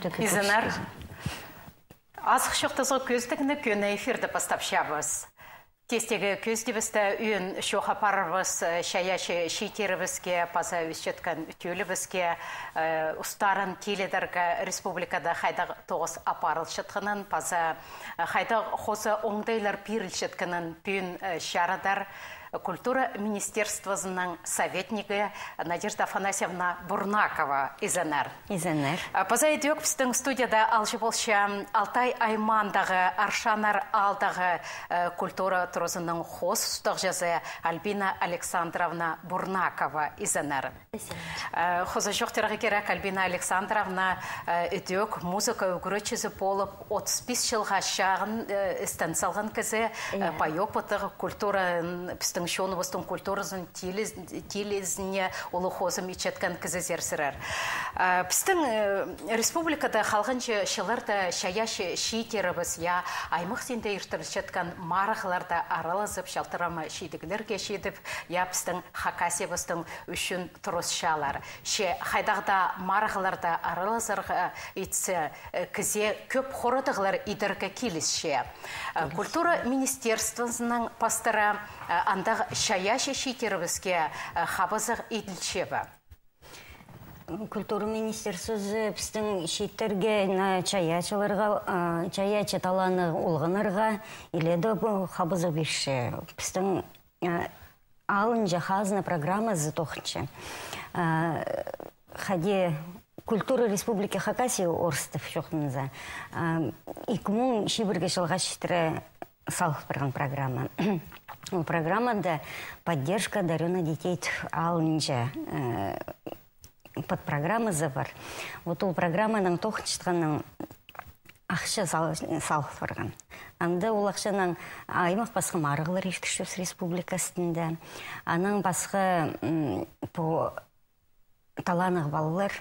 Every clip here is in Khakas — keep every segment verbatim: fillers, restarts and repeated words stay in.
Изеннер. Азых чоохтазығ кӧзідігні кӧні эфирде пастапчабыс. Тестегі кӧзідібісте ӧӧн чоох апарарбыс, э, чайаачы чииттерібіске паза ӧсчеткен тӧлібіске, э, устарын тилідерге республикада хайдағ тоғыс апарылчатханын, паза, э, хайдағ хоза оңдайлар пирілчеткенін пӱӱн, э, чарадар культура министерствозының советнигі Надежда Афанасьевна Бурнакова. Изеннер. Изеннер. А, паза идӧк пістің студияда алҷы полча Алтай аймаандағы Аршаннар аалдағы, э, культура туразының хоос устағҷызы Альбина Александровна Бурнакова. Изеннер. Э, хоза чоохтирға кирек, Альбина Александровна, э, идӧк музыка ӱгретчізі полып, отыс пис чылға чағын, э, істен салған кізі, э, пай опыттығ, культураның, пістің чоныбыстың культуразын тиліс-, тилізіне улуғ хозым итчеткен кізізер сірер. Э, пістің, э, республикада халғанҷы чылларда чайаачы чииттерібіс, я, аймах синде иртірілчеткен марығларда аралазып, чалтырама чидіглерге чидіп, я, пістің Хакасиябыстың ӱчӱн турысчалар. Че хайдағ даа марығларда аралазарға итсе, э, кізее кӧп хоратығлар идерге килісче. Э, культура министерствозының пастыра, э, андағ чайаачы чииттерібіске, э, хабазығ иділче бе? Культура министерствозы пістің чииттерге, на, чайаачыларға, э, чайаачы таланы олғаннарға иледе пу хабазығ пирче. Пістің, э, алынҷа хазна программазы тоғынча. А, хайди, «Культура Республики Хакасия» орыстап чоохтанза. А, ікі муң чибіргі чылға читіре салыл парған программа. Ол программада «Поддержка одарённых детей» тіп алынҷа, э, подпрограммазы пар. Вот ол программаның тоғынчатханын ахча сал-, салыл парған. Анда ол ахчанаң аймах пасха марығлар иртірчебіс республика істінде. Анаң пасха, м, пу таланығ палалар,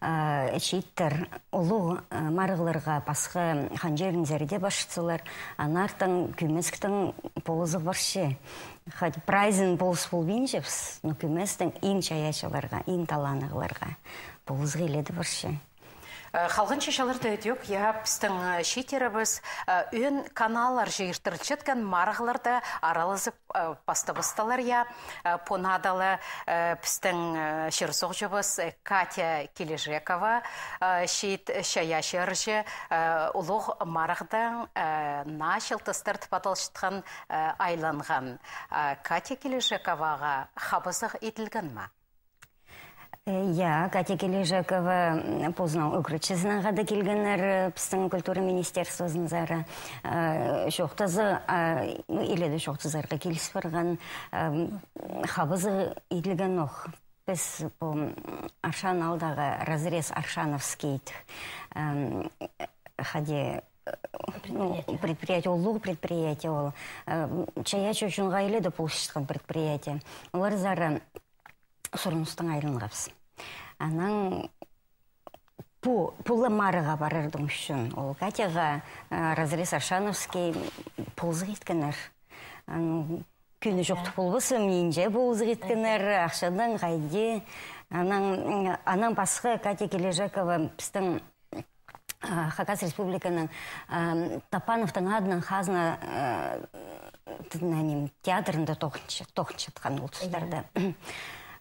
а, чииттер улуғ, а, марығларға пасха хан чирінзерге парчатсалар, анартын кӧместің полызығ парча. Хать прайзын полыс полбинчабыс, но кӧместің иң чайаачыларға, иң таланығларға полызығ иледе парча. Э, халғанҷы чылларда идӧк, я, пістің, э, чииттерібіс, э, ӧӧн каналларҷа иртірілчеткен марығларда аралазып, э, пастабыстылар, я, э, пу наада, э, пістің, э, чир-суғҷыбыс, э, Катя Килижекова, э, чиит чайаачы ырҷы, э, улуғ марығдаң, э, «Наа чылтыстар» тіп адалчатхан, э, айланған. Э, Катя Килижековаға хабазығ иділген ме? Э, я, Катя Килижекова, м, позының ӱгретчізінең хада килгеннер, э, пістің культура министерствозынзар, э, чоохтаза, а, ну, иледе чоохтазарға киліс парған, ам, хабазығ иділген ох. Піс пу, м, Аршан аалдағы «Разрез Аршановский» тіп, ам, хайди, э, ну, предприятие, улуғ предприятие ол. Э, чайаачы ӱчӱн ла иледе полысчатхан предприятие. Оларзар сурыныстаң айланғабыс. Анаң пу, пу ла марығға парарның ӱчӱн ол Катяға, э, «Разрез Аршановский» полызығ иткеннер. Анаң кӧні чоохтап полбассым, нинҷе полызығ иткеннер, ахчанаң хайди. Анаң, м, анаң пасха Катя Килижекова пістің, а, Хакас Республиканың, ам, Топановтың адынаң хазна, э, т-, наним, театрында тоғынча-, тоғынчатхан ол тустарда.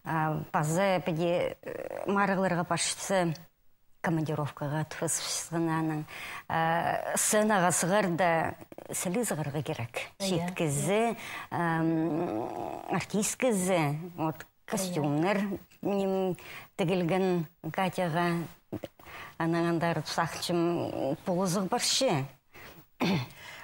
А, паза піди, э, марығларға парчатса, командировкаға тіп ызыбысчатхан анаң, э, сценаға сығарда сіліг сығарға кирек. Чиит кізі, ам, артист кізі, вот, костюмнар, ним, тігілген Катяға. Анаң андар сағынчам, полызығ парча.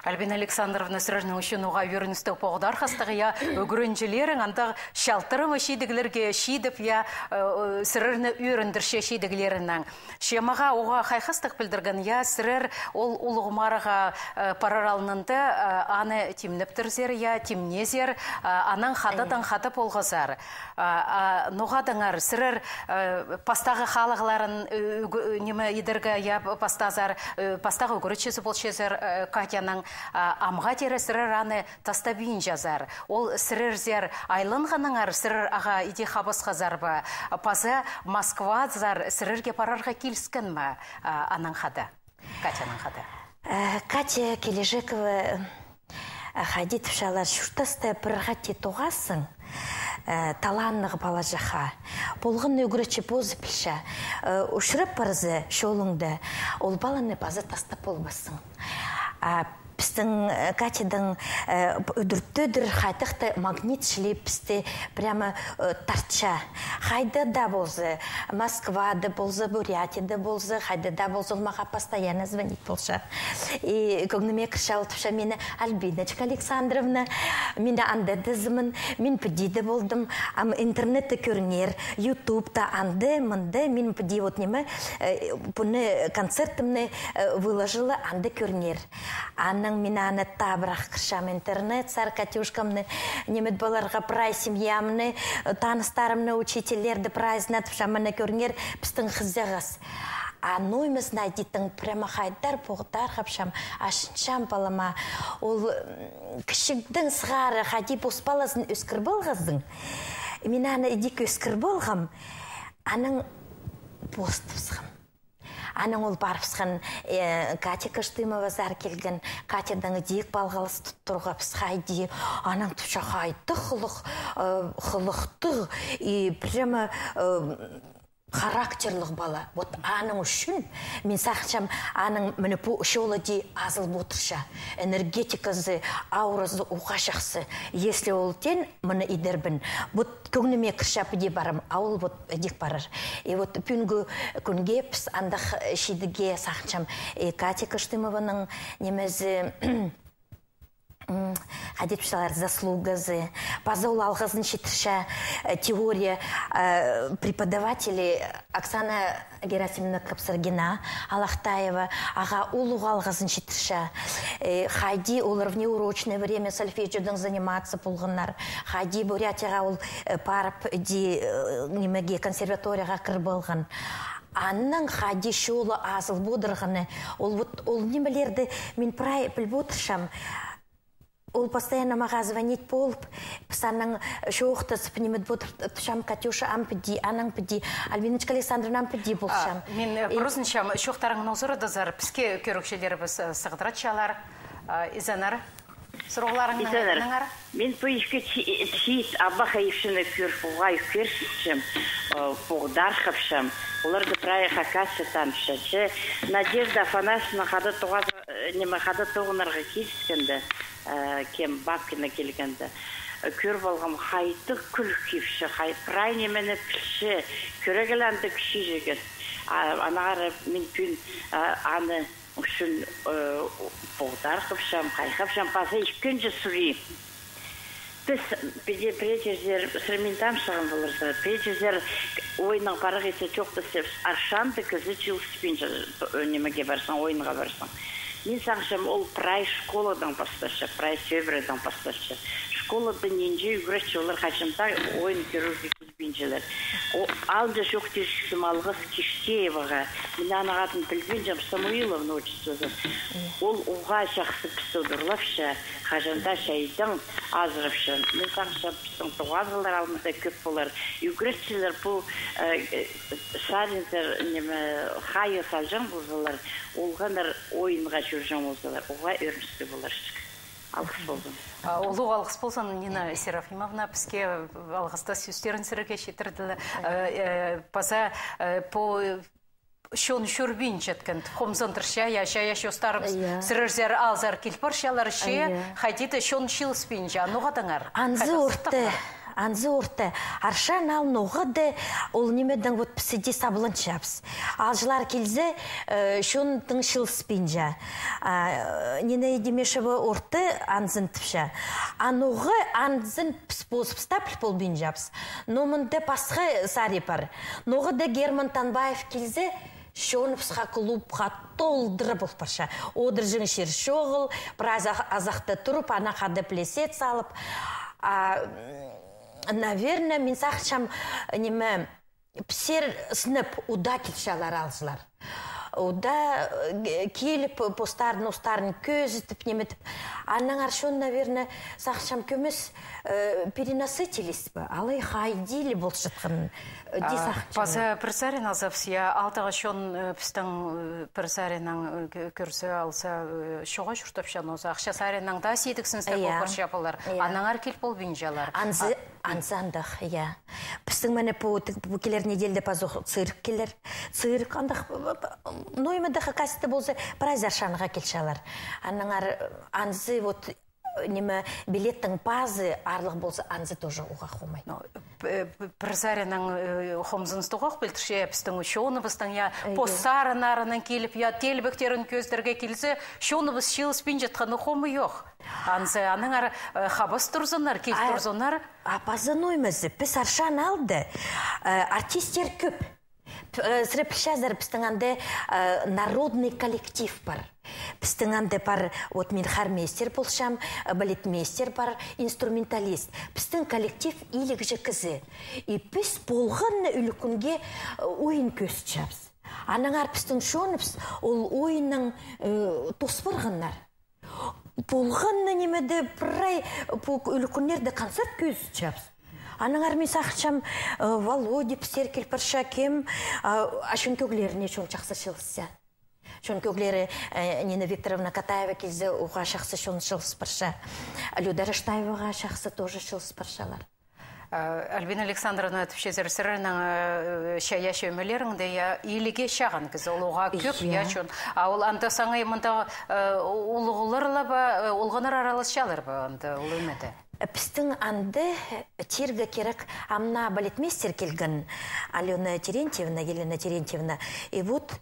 Альбина Александровна, сірернің ӱчӱн уғаа ӧріністіг поғдархастығ, я, ӱгренҷілерің андағ чалтырама чидіглерге чидіп, я, э, э, сірерні ӧріндірче чидіглерінең. Че мағаа уғаа хайхастығ пілдірген, я, сірер ол улуғ марығға, э, парар алнында, э, аны тимнептірзер, я, тимнезер, э, анаң хададаң хада полғазар. А, а, ноға адаңар, сірер, э, пастағы халығларын, э, ӱг-, ниме идерге, я, пастазар, э, пастағы ӱгретчізі полчазар, э, Катяның, А, амға теере сірер аны тастабинчазар. Ол сірерзер айланғаныңар, сірер ағаа иди хабысхазар ба? Паза Москвазар сірерге парарға киліскен ме, а, анаң хада? Катянаң хада. Э, Катя Кележекова, э, хайди тіпчелер, чуртаста пір хати тоғазың, э, таланнығ палаҷахха. Полған ӱгретчі позы пілче. Э, учурап парза чолыңда, ол паланы паза тастап полбассың. А пістің, э, Катядаң, э, п-, ӱдір-тӧдір хайдағ-да магнит чіли пісті прямо, э, тартча. Хайда даа полза, Москвада полза, Бурятияда полза, хайда даа полза, ол мағаа постоянно звонить полча. И кӧңніме кірче, ол тіпче мині: «Альбиночка Александровна, мин анда даа ызымын, мин піди дее полдым, ам интернетте кӧріңер, ютубта, анда, мында, мин піди вот ниме, э, пуны концертімні, э, выложила, анда кӧріңер». Анаң мин аны табырах кірчем интернетсар, Катюшкамны ниме ит поларға, прай семьямны, таныстарымны, учительлерді прайзына тіпчем: «Мына кӧріңер, пістің хызығыс». А ноо ниме знать иттің, прямо хайдар поғдархапчам, ачынчам палама. Ол, м, кічігдең сығара хайди пос палазын ӧскір полғазың. Мин аны идӧк ӧскір полғам, анаң постыбысхан. Анаң ол парыбысхан, э, Катя Кыштымовазар килген, Катядаң идӧк палғалыс тут турғабыс, хайди. Анаң тіпче, хайдағ хылых, э, хылыхтығ и прямо, э, характерлығ пала. Вот аның ӱчӱн мин сағынчам, аның мына пу чолы даа азыл полтырча. Энергетиказы, ауразы уғаа чахсы. Если ол теен, мыны идербін. Вот кӧңніме кірче, піди парам, а ол вот идӧк парар. И вот пӱӱнгі кӱнге піс андағ чидігге, сағынчам, и Катя Кыштымованың нимезі, м, хайди тіпчелер, заслугазы. Паза ол алғызын читірче, э, теория, э, преподаватели Оксана Герасимовна Капсаргина, Алахтаева, ағаа улуғ алғызын читірче. Э, хайди олар внеурочное время сольфеджиодаң заниматься полғаннар. Хайди Бурятияға ол, э, парып, иди, э, нимеге, консерваторияға кіріп алған. Аның хайди чолы азыл полтырғаны, ол вот, ол нимелерді мин прай піліп полтырчам. Ол постоянно мағаа звонить полып, піс анаң чоохтазып, ниме ит полтырчам: «Катюша, ам піди, анаң піди, Альбиночка Александровна, ам піди», полчам. А, мин, э, и пір узынчам, чоохтарыңны узарадазар, піске кӧрігҷілерібіс, э, сығдыратчалар, э, изеннер. Сурығларыңның, изеннер, аңар. Мин пу іккі чи-, чиит абах ипчіні кӧр-, уғаа ӧккерчем, э, поғдархапчам. Оларды прай хакасча таныпча. Че Надежда Афанасьевна хада тоғазы, э, ниме, хада тоғынарға киліскенде, э, кем, Бабкина килгенде, э, кӧр полғам, хайдағ кӱлік ипчі, хай-, прай нимені пілче, кӧрегелі андағ кічіҷек. А, аннаңар мин пӱӱн, э, аны ӱчӱн, э, поғдархапчам, хайхапчам, паза ікінҷі сурии. Піс піди пірее-пірее, сірер мині танысчаң поларзар, пірее-пірее ойыннаң парарға итсе, чоохтасчабыс, аршанда кізі чыылыспинча, э, нимеге парзаң, ойынға парзаң. Мин сағынчам, ол прай школадаң пасталча, прай сӧбіредең пасталча. Школада нинҷе ӱгретчі, олар хаҷан даа ойын кӧрерге килбинчелер. О, алынҷа чоохтирҷыхтым алғыс Киштееваға, мин аның адын пілбинчем, Самойловна отчествозын. Ол уғаа чахсы пісті удурлапча, хаҷан даа чайдаң азырапча. Мин сағынчам, пістің тоғазығлар алнында кӧп полар. Ӱгретчілер пу, э, э, саринзар, ниме, хайығ салҷаң ползалар, олғаннар ойынға чӧрҷең ползалар, уғаа ӧріністіг поларҷых. Алғыс ползын. А, улуғ алғыс ползын, Нина Серафимовна, піске алғыстас сӧстерін сірерге читірділер. Э, э, паза, э, пу чон чӧрбинчеткен, хомзындырча, я, чайаачы чостарыбыс, я, сірерзер алзар кил парчалар, че, я, хайди-да чон чыылыспинча, ноға таңар? Анзы орта, анзы орта. Аршан аал ноға-да ол нимедең вот піс иди сабланчабыс. Аалҷылар килзе, э, чон тың чыылыспинча. А, э, Нина Едимешева орта анзын тіпче. А ноға анзын піс позыбыс таа піл полбинчабыс. Но мында пасха сари пар. Ноға-да Герман Танбаев килзе, чоныбысха, клубха толдыра пол парча. Одырҷаң чир чоғыл, прай азах-, азахта турып, анаң хада пілесет салып. А, м, наверное, мин сағынчам, ниме, пісер сынап удаа килчелер аалҷылар. Ол даа, э, киліп, постарын, устарын кӧзітіп, ниме тіп. Аннаңар чон, наверное, сағынчам, кӧмес, э, перенасытились пе, алай хайди ли полчатхан, э, даа сағынчам. Паза пір саринаң азапсия, алтыға чон, э, пістің, э, пір саринаң, э, кӧ-, кӧрзе алза, э, чоға чуртапча, но ахча саринаң даа сидіксіністер полча полар. Аннаңар кил полбинчалар. Анзы, анзы андағ, я. Пістің міне пу, пу келер неделяда пазох цирк келер. Цирк андағ, ну, ниме дее Хакасияда полза, прай Аршанға килчелер. Аннаңар анзы вот, ниме, билеттің пазы аарлығ полза, анзы тоже уғаа хомай. Ну, п-, п-, пір саринаң, э, хомзыныстығ ох пілдірче, пістің чоныбыстың, я, постарынарынаң киліп, я, теелбектерін кӧзідерге килзе, чоныбыс чыылыспинчатханы хомай ох. Анзы, аннаңар, э, хабас турзыннар, кил турзыннар. А паза, ну, ниме, піс Аршан аалда, э, артисттер кӧп. П-, э, сірер пілчезер, пістің анда, э, народный коллектив пар. Пістің анда пар, вот, мин хормейстер полчам, э, балетмейстер пар, инструменталист. Пістің коллектив илігҷе кізі. И піс полған на ӱлӱкӱнге, э, ойын кӧзітчебіс. Аннаңар пістің чоныбыс ол ойыннаң, э, тос парғаннар. Полған на ниме дее прай пу ӱлӱкӱннерде концерт кӧзітчебіс. Аннаңар мин сағынчам, э, Володя пістер кил парча, кем, а, а чон кӧглеріне чон чахсы чыылысча. Чон кӧглері, э, Нина Викторовна Катаева килзе, уғаа чахсы чон чыылыс парча. Люда Раштаеваға чахсы тоже чыылыс парчалар. Э, Альбина Александровна, тіпчезер, сірернің, э, чайаачы ӧмелеріңде, я, иліге чағын кізі, ол уғаа кӧп, я, чон. А ол анда саңай мында, э, улуғлар ла ба, э, олғаннар араласчалар ба анда, ол ӧмеде? Пістің анда, э, тирге кирек, ам на балетмейстер килген, Алёна Терентьевна, Елена Терентьевна. И вот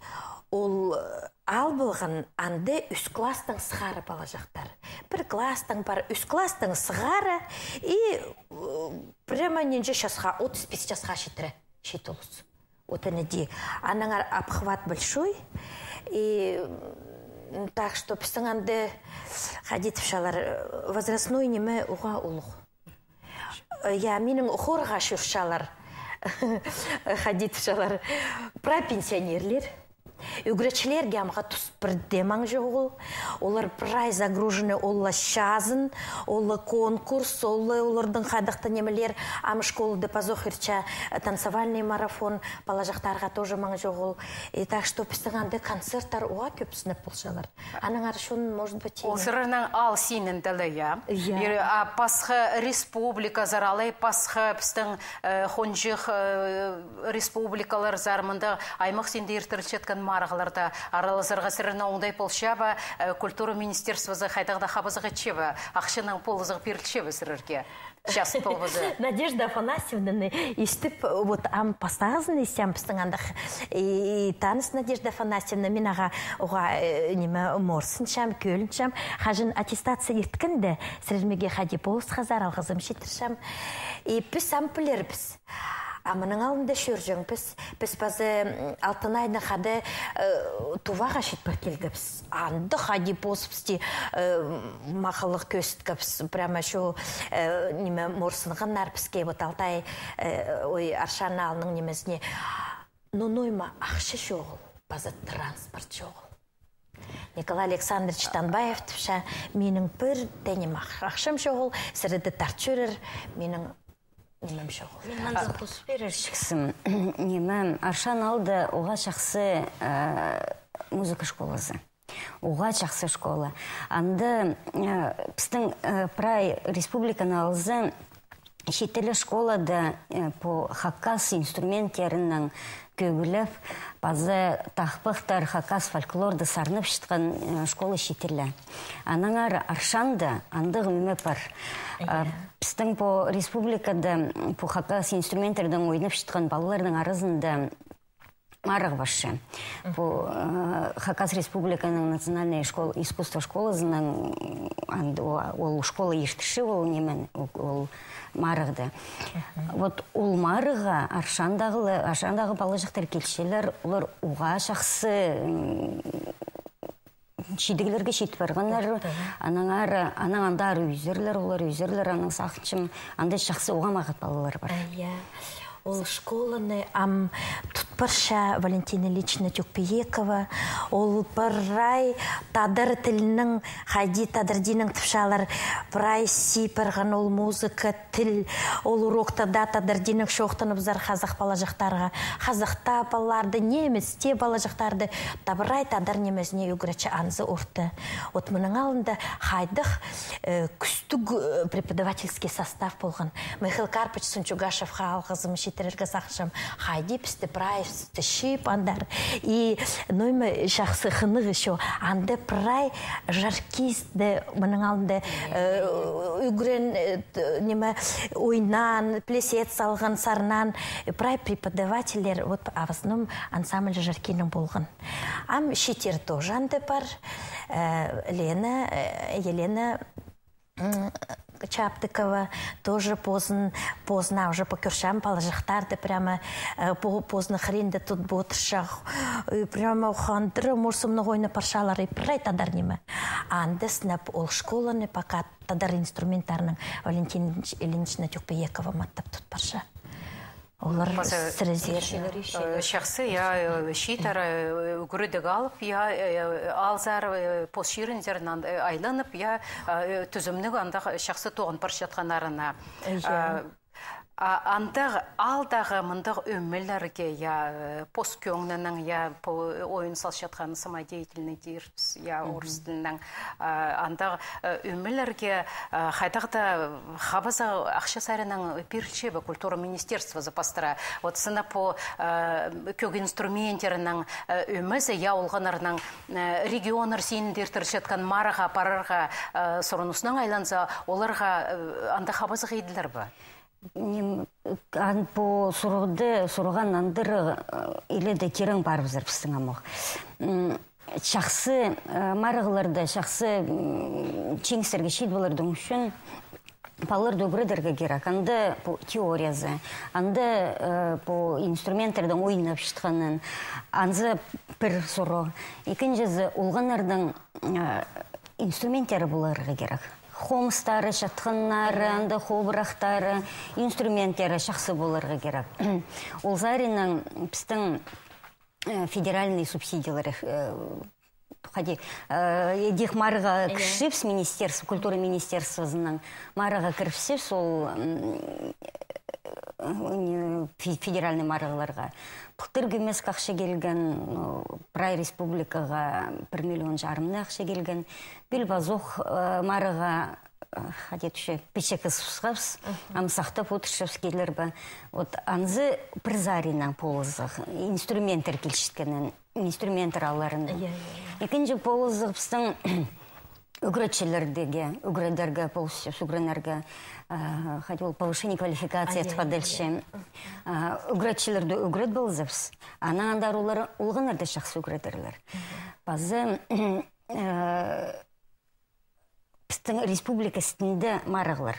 ол, э, Аал полған анда ӱс класстаң сығара палаҷахтар. Пір класстаң пар, ӱс класстаң сығара и, э, прямо нинҷе часха, отыс пис часха читіре, чиит улус. Вот ана дее. Аннаңар обхват большой. И, м, так что пістің анда, хайди тіпчелер, э, возрастной ниме уғаа улуғ. Э, я, минің хорға чӧрчелер. Хайди тіпчелер. Прай пенсионерлер. Ӱгретчілерге амға тус пір дее маң чоғыл. Олар прай загружены, ол ла чазын, ол ла конкурс, ол ла олардың хайдағ-да нимелер. Ам школада пазох иртче, э, танцевальный марафон, палаҷахтарға тоже маң чоғыл. И так что пістің анда концерттер уғаа кӧп сынап полчалар. Аннаңар чон, может быть, ол сірернің аал синінде ле, я? Я. А пасха республиказар, алай пасха пістің, э, хонҷых, э, республикаларзар, мында аймах синде иртірілчеткен марығларда араласарға сірернің оңдай полча ба, э, культура министерствозы хайдағ-да хабазығ итче бе, ахчаның полызығ пирілче бе сірерге? Час полбаза. Надежда Афанасьевнаны истіп, вот, ам пастағызын истем пістің андағ, и, таныс Надежда Афанасьевна, мин ағаа, уғаа, э, ниме, морсынчам, кӧлінчем, хаҷан аттестация ирткенде, сірер миге хайди полысхазар, алғызым читірчем. И піс ам пілербіс. А мының алнында чӧрҷеңбіс. Піс паза, м, Алтынайның хада, э, Туваға чит пар килгебіс. Анда хайди позыбысты, э, махалығ кӧзіткебіс. Прямо чо, э, ниме, морсынғаннар піске, вот Алтай, э, ой, Аршан аалның нимезіне. Но ноо ниме, ахча чоғыл, паза транспорт чоғыл. Николай Александрович Танбаев тіпче, минің пір дее ниме ах-, ахчам чоғыл, сірерді тартча ӧрер, минің нимем чоғыл. Мин мында хус пирерҷіксім. Ниме, Аршан аалда уғаа чахсы, э, музыка школазы. Уғаа чахсы школа. Анда, э, пістің, э, прай республиканы алза, читіре школада, э, пу хакас инструменттерінең кӧглеп, паза тахпахтар, хакас фольклорды сарнапчатхан, э, школа читіре. Аннаңар Аршанда андағ ӧме пар. А, пістің пу республикада, м, пу хакас инструменттердең ойнапчатхан палаларның аразында марығ парча. Пу, э, Хакас Республиканың национальный школ-, искусство школазының, м, анд-, о-, ол школа иртірче ол ниме, о-, ол марығды. Вот ол марығға Аршандағылар, Аршандағы палаҷахтар килчелер, олар уғаа чахсы, м, чидіглерге чит парғаннар, аннаңар, анаң андар ӱзерлер, олар ӱзерлер, анаң сағынчам, анда чахсы уғаа маңат палалар пар. Э, я. Ол школаны ам тут парча Валентина Ильинична Тюкпиекова. Ол прай тадар тілінің, хайди тадар динің тіпчелер, прай сии парған ол музыка, тіл. Ол урокта даа тадар динің чоохтаныбызар хазах палаҷахтарға. Хазах таа палаларды, немец тее палаҷахтарды, прай тадар нимезіне ӱгретче анзы орта. Вот мының алнында хайдағ, э, кӱстіг, э, преподавательский состав полған. Михаил Карпович Сунчугашевха алғызым читірерге сағынчам. Хайди пісті прайыбысты чыып андар. И, ну, ниме чахсы хынығ ещё, анда прай чаркисті, мының алнында, э, ӱгрен, э, т-, ниме, ойнаан, плясет салған, сарнаан, прай преподавательлер, вот, в основном ансамбль «Чаркинең» полған. Ам чииттер тоже анда пар. Э, Лена, э, Елена, м, Чаптыкова тоже позын, позына уже пу кӧрчем, палаҷахтарды прямо, э, по-, позының хыринда тудып одырча. И прямо хандыра морсымны ойнап парчалар, и прай тадар ниме. Анда сынап ол школаны пока тадар инструменттарның Валентина Ильинична Тюкпиекова маттап тут парча. Олар сірезер. Э, чахсы, я, э, чииттер, э, ӱгредіг алып, я, э, алзар, э, пос чирінзер, э, айланып, я, э, тӱзімніг андағ чахсы тоғын парчатханнарына. Э, а, андағ аалдағы мындағ ӧмелерге, я, э, пос кӧңнінең, я, пу ойын салчатхан самодеятельный тирбіс, я, орыс тілінең. А, андағ, э, ӧмелерге, э, хайдағ-да хабаза ахча саринаң пирілче бе культура министерствозы пастыра? Вот сынап пу, э, кӧг инструменттерінің, э, ӧмезі, я, олғаннарның, э, регионнар синінде иртірілчеткен марығға парарға, э, сурыныснаң айланза, оларға, э, анда хабаза иділер бе? Ним, ан пу сурығды сурған андыры, э, иледе тирең парыбызар пістің амох. М, чахсы, э, марығларда, чахсы, м, чиңістерге чит поларның ӱчӱн палаларды ӱгредерге кирек. Анда пу теориязы, анда, э, пу инструменттердең ойнапчатханын, анзы пір сурығ. Ікінҷізі, олғаннарның, э, инструменттері поларға кирек. Хомыстары, чатханнары, анда хобырахтары, инструменттері чахсы поларға кирек. Ол саринаң пістің, э, федеральный субсидиялар, э, хайди, э, идӧк марығға кірчебіс министерство, культура министерствозынаң марығға кірчебіс, ол, м, э, фе-, федеральный марығларға. Пылтыр кӧмес ахча килген, ну, прай республикаға пір миллион чарым на ахча килген. Піл пазох, э, марығға, э, хайди тіпче, пічік ысыбысхабыс, ам сахтап одырчабыс, килер бе. Вот анзы пір саринаң полызығ, инструменттер килчеткенін, инструменттер аларынаң. Ікінҷі полызығ пістің ӱгретчілердегі, ӱгредерге полысчабыс, ӱгренерге, а, хайди ол повышение квалификации тіп адалча. А, ӱгретчілерді ӱгрет ползабыс, анаң андар олар олғаннарды чахсы ӱгредерлер. Пазы, э, пістің республика істінде марығлар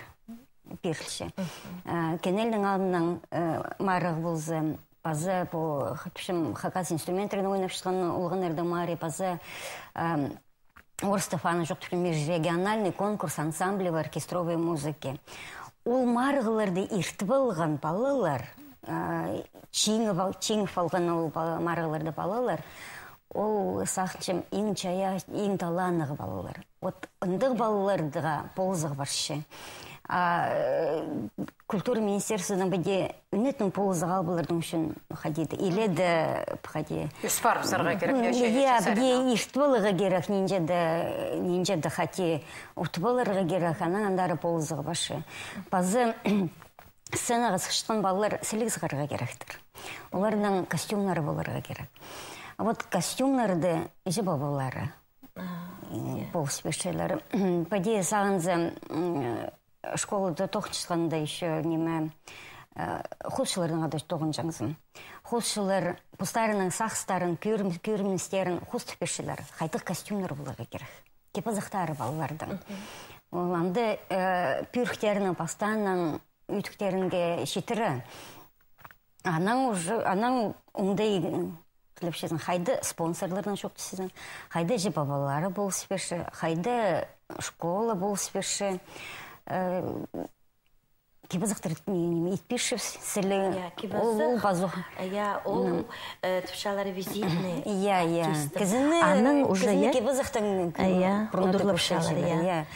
пирілче. Э, кенелнің алнының, э, марығ полза, пазы пу, тіпчем, хакас инструменттерін ойнапчатхан олғаннарның марии, пазы, эм, орыстап аны чоохтапчам, межрегиональный конкурс ансамблевой оркестровой музыки. Ол марығларды иртіп алған палалар, э, чиңіп ал-, чиңіп алған ол па-, марығларды палалар, ол, сағынчам, иң чайаа, иң таланығ палалар. Вот ындығ палаларға полызығ парча. А, э, культура министерствоның піди ӱнетін полызығ алып аларның ӱчӱн хайди-да, иледе, хайди. Ӧс парыбызарға кирек, я, піди иртіп аларға кирек, нинҷе-де, нинҷе-де хайди утып аларға кирек, анаң андар полызығ парча. Пазы сценаға сыхчатхан палалар сіліг сығарға киректер. Оларның костюмнары поларға кирек. А вот костюмнарды іҷе-пабалары, м, полыс пирчелер. Піди сағынза, м, школада тоғынчатханда ещё ниме, э, хосчыларнаң ада тоғынҷаңзым. Хосчылар постарының сағыстарын, кӧрім-, кӧріністерін хостап пирчелер. Хайдағ костюмнар поларға кирек. Кип-азахтары палаларның. Ол анда, э, пӧріктерінің пастааннаң ӱдіктерінге читіре. Анаң уже, анаң оңдай тілепчезің, хайда спонсорларнаң чоохтасчазың, хайда іҷе-пабалары полыс пирче, хайда школа полыс пирче. Э, кип-азахтар, ниме, итпинчебіс, сіліг. Я, ол, ол кип-азах. Пазох. Я, ол, м, э, тіпчелер визитный. Я, я. Артистің. Кізіні, аның уже, кізіні, я, кип-азахтаң, я, пурнатып удурлапчалар, кӧрчелер, я. Я.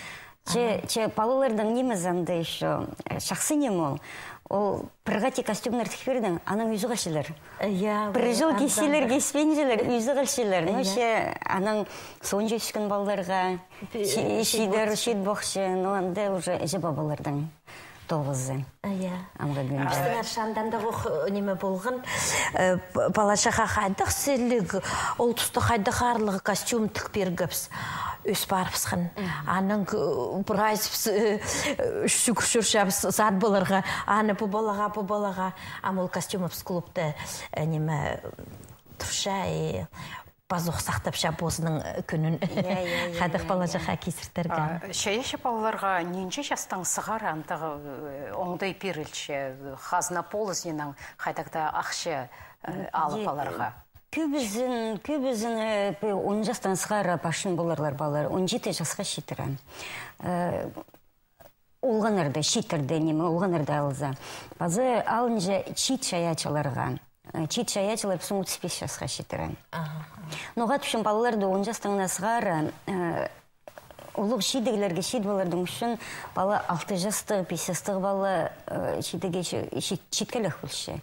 Че, ага, че палаларның нимезі анда ещё, э, чахсы ниме ол. Ол пір хати костюмнар тік пирдің, анаң ӱзіп алчалар. Я, пір чыл кисчелер, киспинчелер, ӱзіп алчалар. Ну, я, че анаң соонҷа ӧскен палаларға, пе-, чи-, чит чидер, похча. Чит похча, ну, анда уже іҷе-пабаларның тоғызы. Я. Амғы кӱнде. Пістің Аршанда андағох, э, ниме полған. Э, п-, палаҷахха хайдағ сіліг, ол туста хайдағ аарлығ костюм тік пиргебіс. Ӧс парыбысхан. Мгм. Анаң, э, прайзыбыс, э, э, сӱгӱр чӧрчебіс сад поларға. Аны пу палаға, пу палаға. Ам ол костюмыбыс клубта, э, ниме, турча, и пазох сахтапча позының, э, кӱнін. Я, я, я. Хайдағ, я, палаҷахха, я, кизіртерге. А, чайаачы палаларға нинҷе частаң сығара андағ, э, оңдай пирілче, хазна полызынаң хайдағ-да ахча, э, алып аларға? Кӧбізін, кӧбізін, э, пе-, он частаң сығара пасчаң поларлар палалар, он читі часха читіре. Э, олғаннарны, чииттерні, ниме, олғаннарны алза. Пазы алынҷа чиит чайаачыларға. Э, чиит чайаачылар пістің отыс пис часха читіре. Аха. Ноға тіпчем палаларны он частаң на сығара, э, улуғ чидіглерге, чиит палаларның ӱчӱн пала алты частығ, пис частығ пала, э, чидіге чи-, чит-, читкелек полча.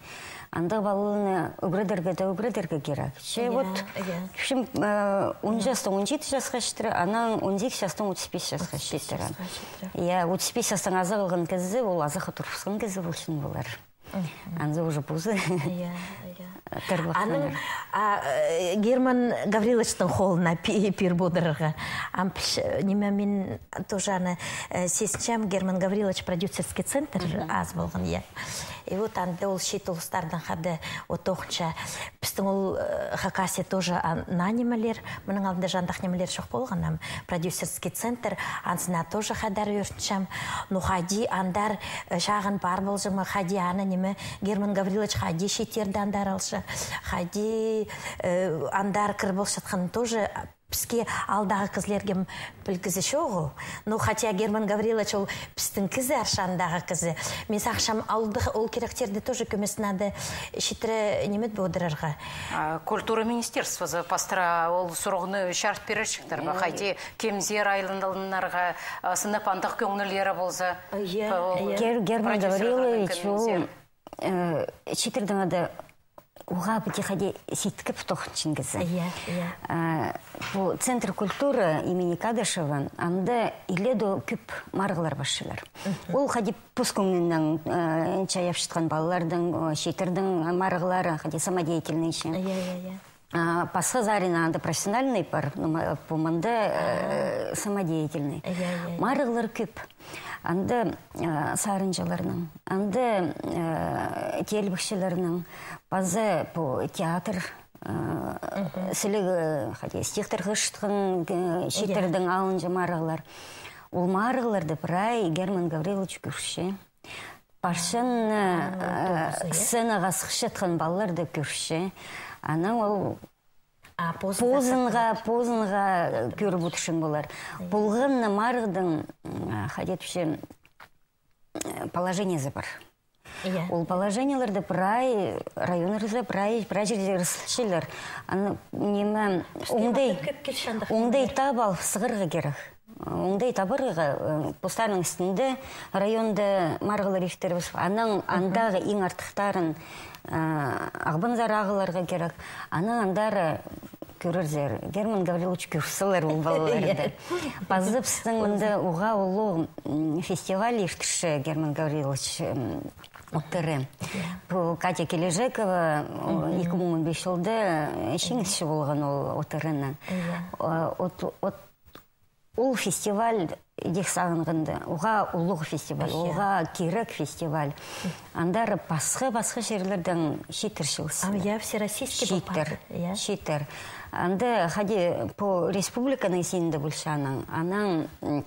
Андағ паланы ӱгредерге дее ӱгредерге кирек. Че, я, вот, я, тіпчем, э, он частаң он читі часха читіре, анаң он сигіс частаң отыс пис часха читіре. Отыс пис часха читіре. Я, отыс пис частаң азах алған кізі, ол азахха турыбысхан кізі полчаң полар. Мгм. Анзы уже позы. Я, я. Тырбахтанар. Анаң, а, э, Герман Гавриловичтің холына пи-, пиріп одырарға. Ам піс, э, ниме, мин тоже аны, э, сизінчем, Герман Гаврилович продюсерский центр, мгм, ас полған, я. И вот анда ол чиит улустарнаң хада, вот, тоғынча. Пістің ол, э, Хакасия тоже, а, наа нимелер, мының алнында же андағ нимелер чох полған, ам продюсерский центр, анзына тоже хайдар ӧрінчем. Ну, хайди андар, э, чағын пар полҷаң ма, хайди аны, ниме, Герман Гаврилович хайди чииттерні андар алча, хайди, э, андар кір полчатхан тоже, а, піске, аалдағы кізілерге, м, пілгізі чоғыл. Ну, хотя Герман Гаврилович ол пістің кізі, Аршандағы кізі. Мин сағынчам, аалдағы ол киректерні тоже кӧмес надо читіре ниме итіп одырарға. А, культура министерствозы пастыра ол сурығны чарыт пирерҷіктер бе? Э, хайди кемзер айланарға, а, сынап андағ кӧңнілері полза. Э, я, ол, я. Гер-, Герман Гаврилович, ол, э, чииттернің ады уғаа піди хайди ситкіп тоғынчаң кізі. Я, я. Э, пу Центр культуры имени Кадышева, анда илееде кӧп марығлар пасчалар. Мгм. Ол хайди пос кӧңнінең, э, чайапчатхан палаларның, э, чииттернің марығлары, хайди самодеятельный чи. Я, я, я. А, пасха саринаң анда профессиональный пар, ну, ма-, пу мында, э, самодеятельный. Я, я, я. Марығлар кӧп. Анда, э, сарынҷыларның, анда, э, теелбекчілернің, паза пу театр, э, мгм, сіліг, э, хайди, стихтер хығырчатхан, э, чииттернің алынҷа марығлар. Ол марығларны прай Герман Гаврилович кӧрче. Парчаң, э, сценаға сыхчатхан палаларны кӧрче. Анаң ол позынға, позынға кӧріп одырчаң полар. Полған на марығның, м, хайди тіпчем, э, положениезі пар. Я. Ол положениелерні прай районнарда, прай, прай чирде ырзылчалар. Аны, ниме, оңдай, оңдай таап алып сығарға кирек. Оңдай табарға, э, постарының істінде районда марығлар иртірібіс. Анаң андағы иң артыхтарын, э, Ағбанзар ағыларға кирек. Анаң андары кӧрерзер. Герман Гаврилович кӧрзе ол палаларны. Паза пістің мында уғаа улуғ, м, фестиваль иртірче Герман Гаврилович, м, Отыры. Пу Катя Кележекова, о, ікі муң он пис чылда, э, чиңісчі полған ол Отырыны. О, от, от, ол фестиваль, тик сағынғанда, уғаа улуғ фестиваль, уғаа кирек фестиваль. Андар пасха-пасха чирлердең чииттер чыылча. А, я, всероссийский чииттер, я. Чииттер. Анда хайди пу республиканың синінде полчаң, анаң, м,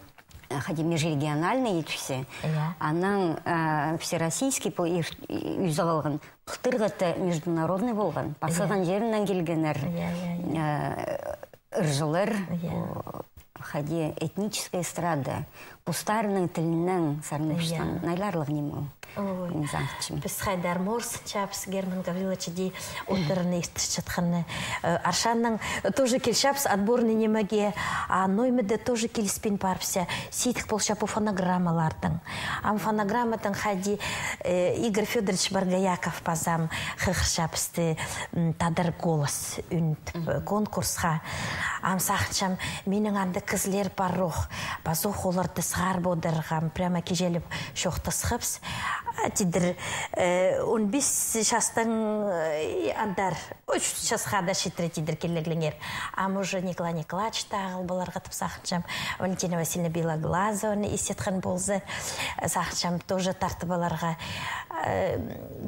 хайди межрегиональный итсе. Я. Анаң, а, всероссийский пу ир-, ӱзе халған. Хытырғата международный полған. Пасхан чирінең килгеннер. Я, я, я. Э, ырҷылар, я, о, хайди этническая эстрада. Постарының тілінең сарнапчатхан. Я. Найларлығ ниме ол. Ой. Мин сағынчам. Піс хайдар морсынчабыс Герман Гаврилович даа одырын иртірчеткеніне. Э, Аршаннаң тоже килчебіс отборный нимее, а Ноймиде тоже киліспин парыбысча. Сидік полча пу фонограммалардаң. Ам фонограммадаң хайди, э, Игорь Фёдорович Боргояков паза ам хығырча пісті, м, «Тадар голос» ӱн тіп, э, конкурсха. Ам сағынчам, минің анда кізілер пар ох, пазох оларды сығарып одырғам, прямо кичелеп чоохтасхабыс. А, тидір, э, он пис частаң, э, андар, ӱс часта даа читіре тидір килеглеңер. Ам уже Николай Николаевич таа ағыл поларға тіп сағынчам. Валентина Васильевна Белоглазованы исчеткен полза, сағынчам, тоже тартып аларға. Э,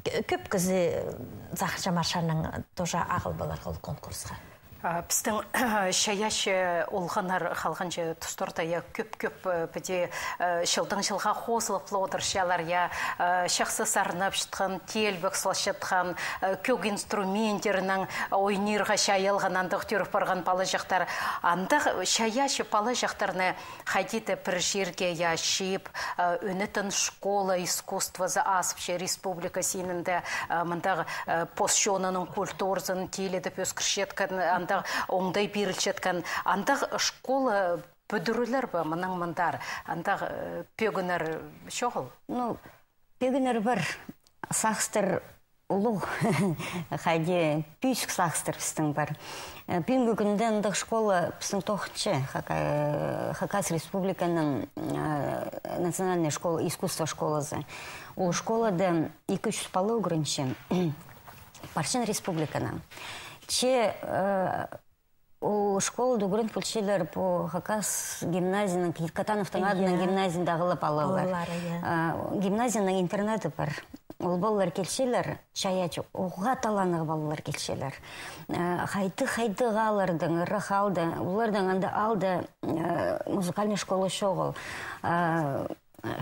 кӧп кізі, сағынчам, Аршаннаң тоже ағыл поларға ол конкурсха. А, пістің чайаачы олғаннар халғанҷы тустарда, я, кӧп-кӧп, э, піди, э, чылдаң чылға хозылып ла одырчалар, я, э, чахсы сарнапчатхан, теелбек салчатхан, э, кӧг инструменттернең ойнирға чайалған, андағ тӧріп парған палаҷахтар. Андағ чайаачы палаҷахтарны хайди-да пір чирге, я, чыып, э, ӱнетін школа искусствозы азыпча республика синінде, э, мындағ, э, пос чонының культуразын тилідіп ӧскірчеткен, андағ оңдай пирілчеткен, андағ школа пӱдірілер бе мының мындар, андағ, э, пӧгіннер чоғыл? Ну, пӧгіннер пар, сағыстар улуғ, хайди, пӧзік сағыстар пістің пар. Э, пӱӱнгі кӱнде андағ школа пістің тоғынча, Хака-, Хакас Республиканың, э, национальный школа, искусство школазы. Ол школада ікі чӱс пала ӱгренче, парчан республиканаң. Че, э, ол школада ӱгрен полчалар пу Хакас гимназияның, Ки-, Катановтың адынаң гимназияда ағылып алалар. Алалар, я. А, гимназияның интернаты пар. Ол палалар килчелер, чайаачы, уғаа таланнығ палалар килчелер. А, хайдағ-хайдағ ааллардаң, ырах аалда, олардаң анда аалда, а, музыкальный школа чоғыл. А,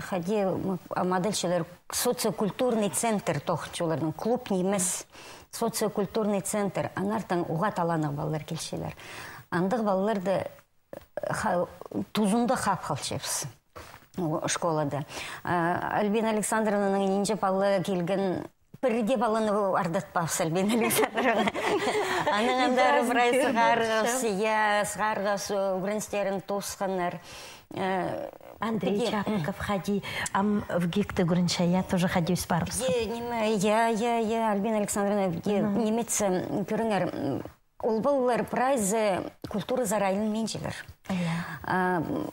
Хайди, м, а, мадалчалар, социокультурный центр тоғынча оларның, клуб нимес, социокультурный центр, аннартаң уғаа таланнығ палалар килчелер. Андағ палаларды, э, ха-, тузында хаап халчабыс. О, школада. А, Альбина Александровнаның нинҷе пала килген, пір дее паланы ардатпаабыс, Альбина Александровна. Анаң андар прай сығарғабыс, я, сығарғабыс, ӱгреністерін тоосханнар. Э, Андрей Чапников хайди, ам в ГИК-те ӱгренче, я, тоже хайди ӧс парыбысхан. Е, ниме, я, я, я, Альбина Александровна, е, ниме итсе, кӧріңер, м, ол палалар прайзы культуразар айланминчалар. Я. А, м,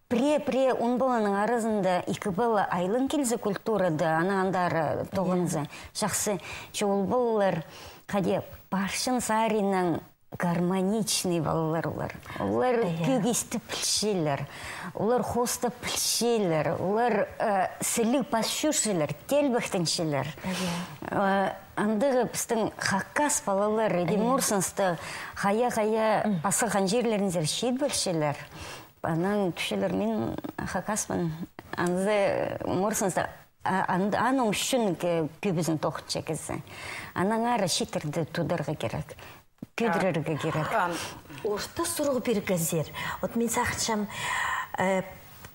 пірее-пірее он паланың аразында ікі пала айлан килзе культурада, анаң андар тоғынза. Я. Чахсы, че ол палалар хайди парчан саринаң гармоничный палалар олар. Олар кӧг истіп пілчелер. Олар хоостап пілчелер. Олар, э, сіліг пас чӧрчелер, теелбектенчелер. Э, андағ пістің хакас палалар, иди морсынста хая-хая пасха хан чирлерінзер чит пілчелер. Анаң тіпчелер, мин хакаспын. Анзы морсынста, а, ан-, аның ӱчӱн ке-, кӧбізін тоғынча кізі. Анаң ары чииттерді тударға кирек. Кӧдірерге кирек. Орта сурығ пиргезер. Вот мин сағынчам, э,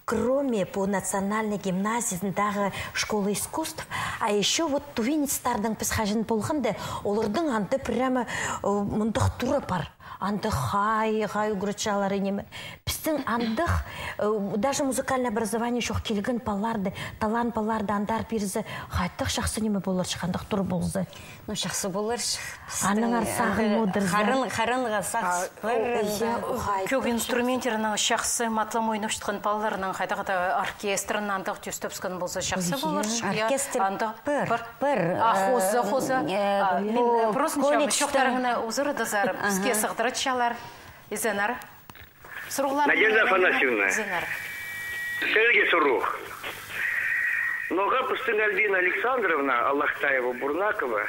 кроме пу национальный гимназиясындағы школа искусств, а ещё вот тувинецтернің піс хаҷан полғанда, олардың анда прямо, э, мындағ тура пар. Анда хай, хай ӱгретчелер, ниме. Пістің андағ, э, даже музыкальное образование чох килген палаларды, талант палаларды андар пирзе, хайдағ чахсы ниме поларҷых, андағ тура полза. Ну, чахсы поларҷых. Аннаңар сағын одырза. Харын, харынға сағыс пар. Кӧг инструменттернең чахсы матлам ойнапчатхан палаларның хайдағ-да оркестрін андағ тӧстепскен полза, чахсы поларҷых. Оркестр андағ пар, пар. А, хоза, хоза. Мин просто чоохтарыңны узарадазар, піске сығдыратчалар. Изеннер. Сурығлар. Надежда Афанасьевна. Изеннер. Сірерге сурығ. Ноға пістің Альбина Александровна Аллахтаева-Бурнакова,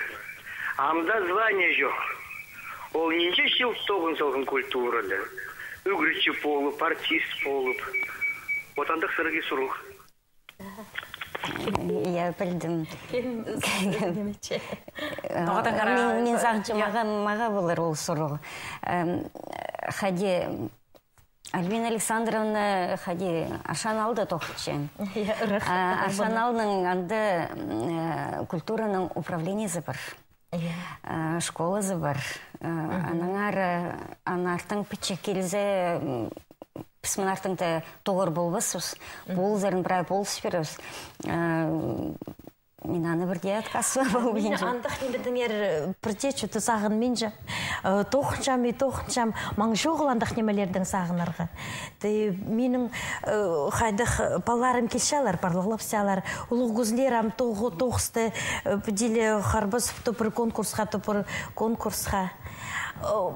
анда звание чох. Ол нинҷе чыл тоғын салған культурада. Ӱгретчі полып, артист полып. Вот андағ сірерге сурығ. Я, пілдім. Мин, мин сағынчам, мағаа, мағаа полар ол сурығ. Эм, хайди, Альбина Александровна хайди Аршан аалда тоғынча. Иә, ырах. А, Аршан аалның анда, м, э, культураның управлениезі пар. Иә. Э, школазы пар. Э, аннаңар, э, аннаңар пічік килзе, м, піс мынаңар тың даа тоғыр полбаспыс. Ползарын прай полыс пирібіс. Э, Мин аны пірдее отказ полбинчам. Мин андағ нимедеңер пірдее чё-то сағынминчам. Э, тоғынчам, и тоғынчам. Маң чоғыл андағ нимелердең сағынарға. Ти, минің, э, хайдағ палаларым килчелер, парлағлапчалар. Улуғ кізілер ам тоғы-, тоғысты, э, піди ле харбас, то пір конкурсха, то пір конкурсха. Э,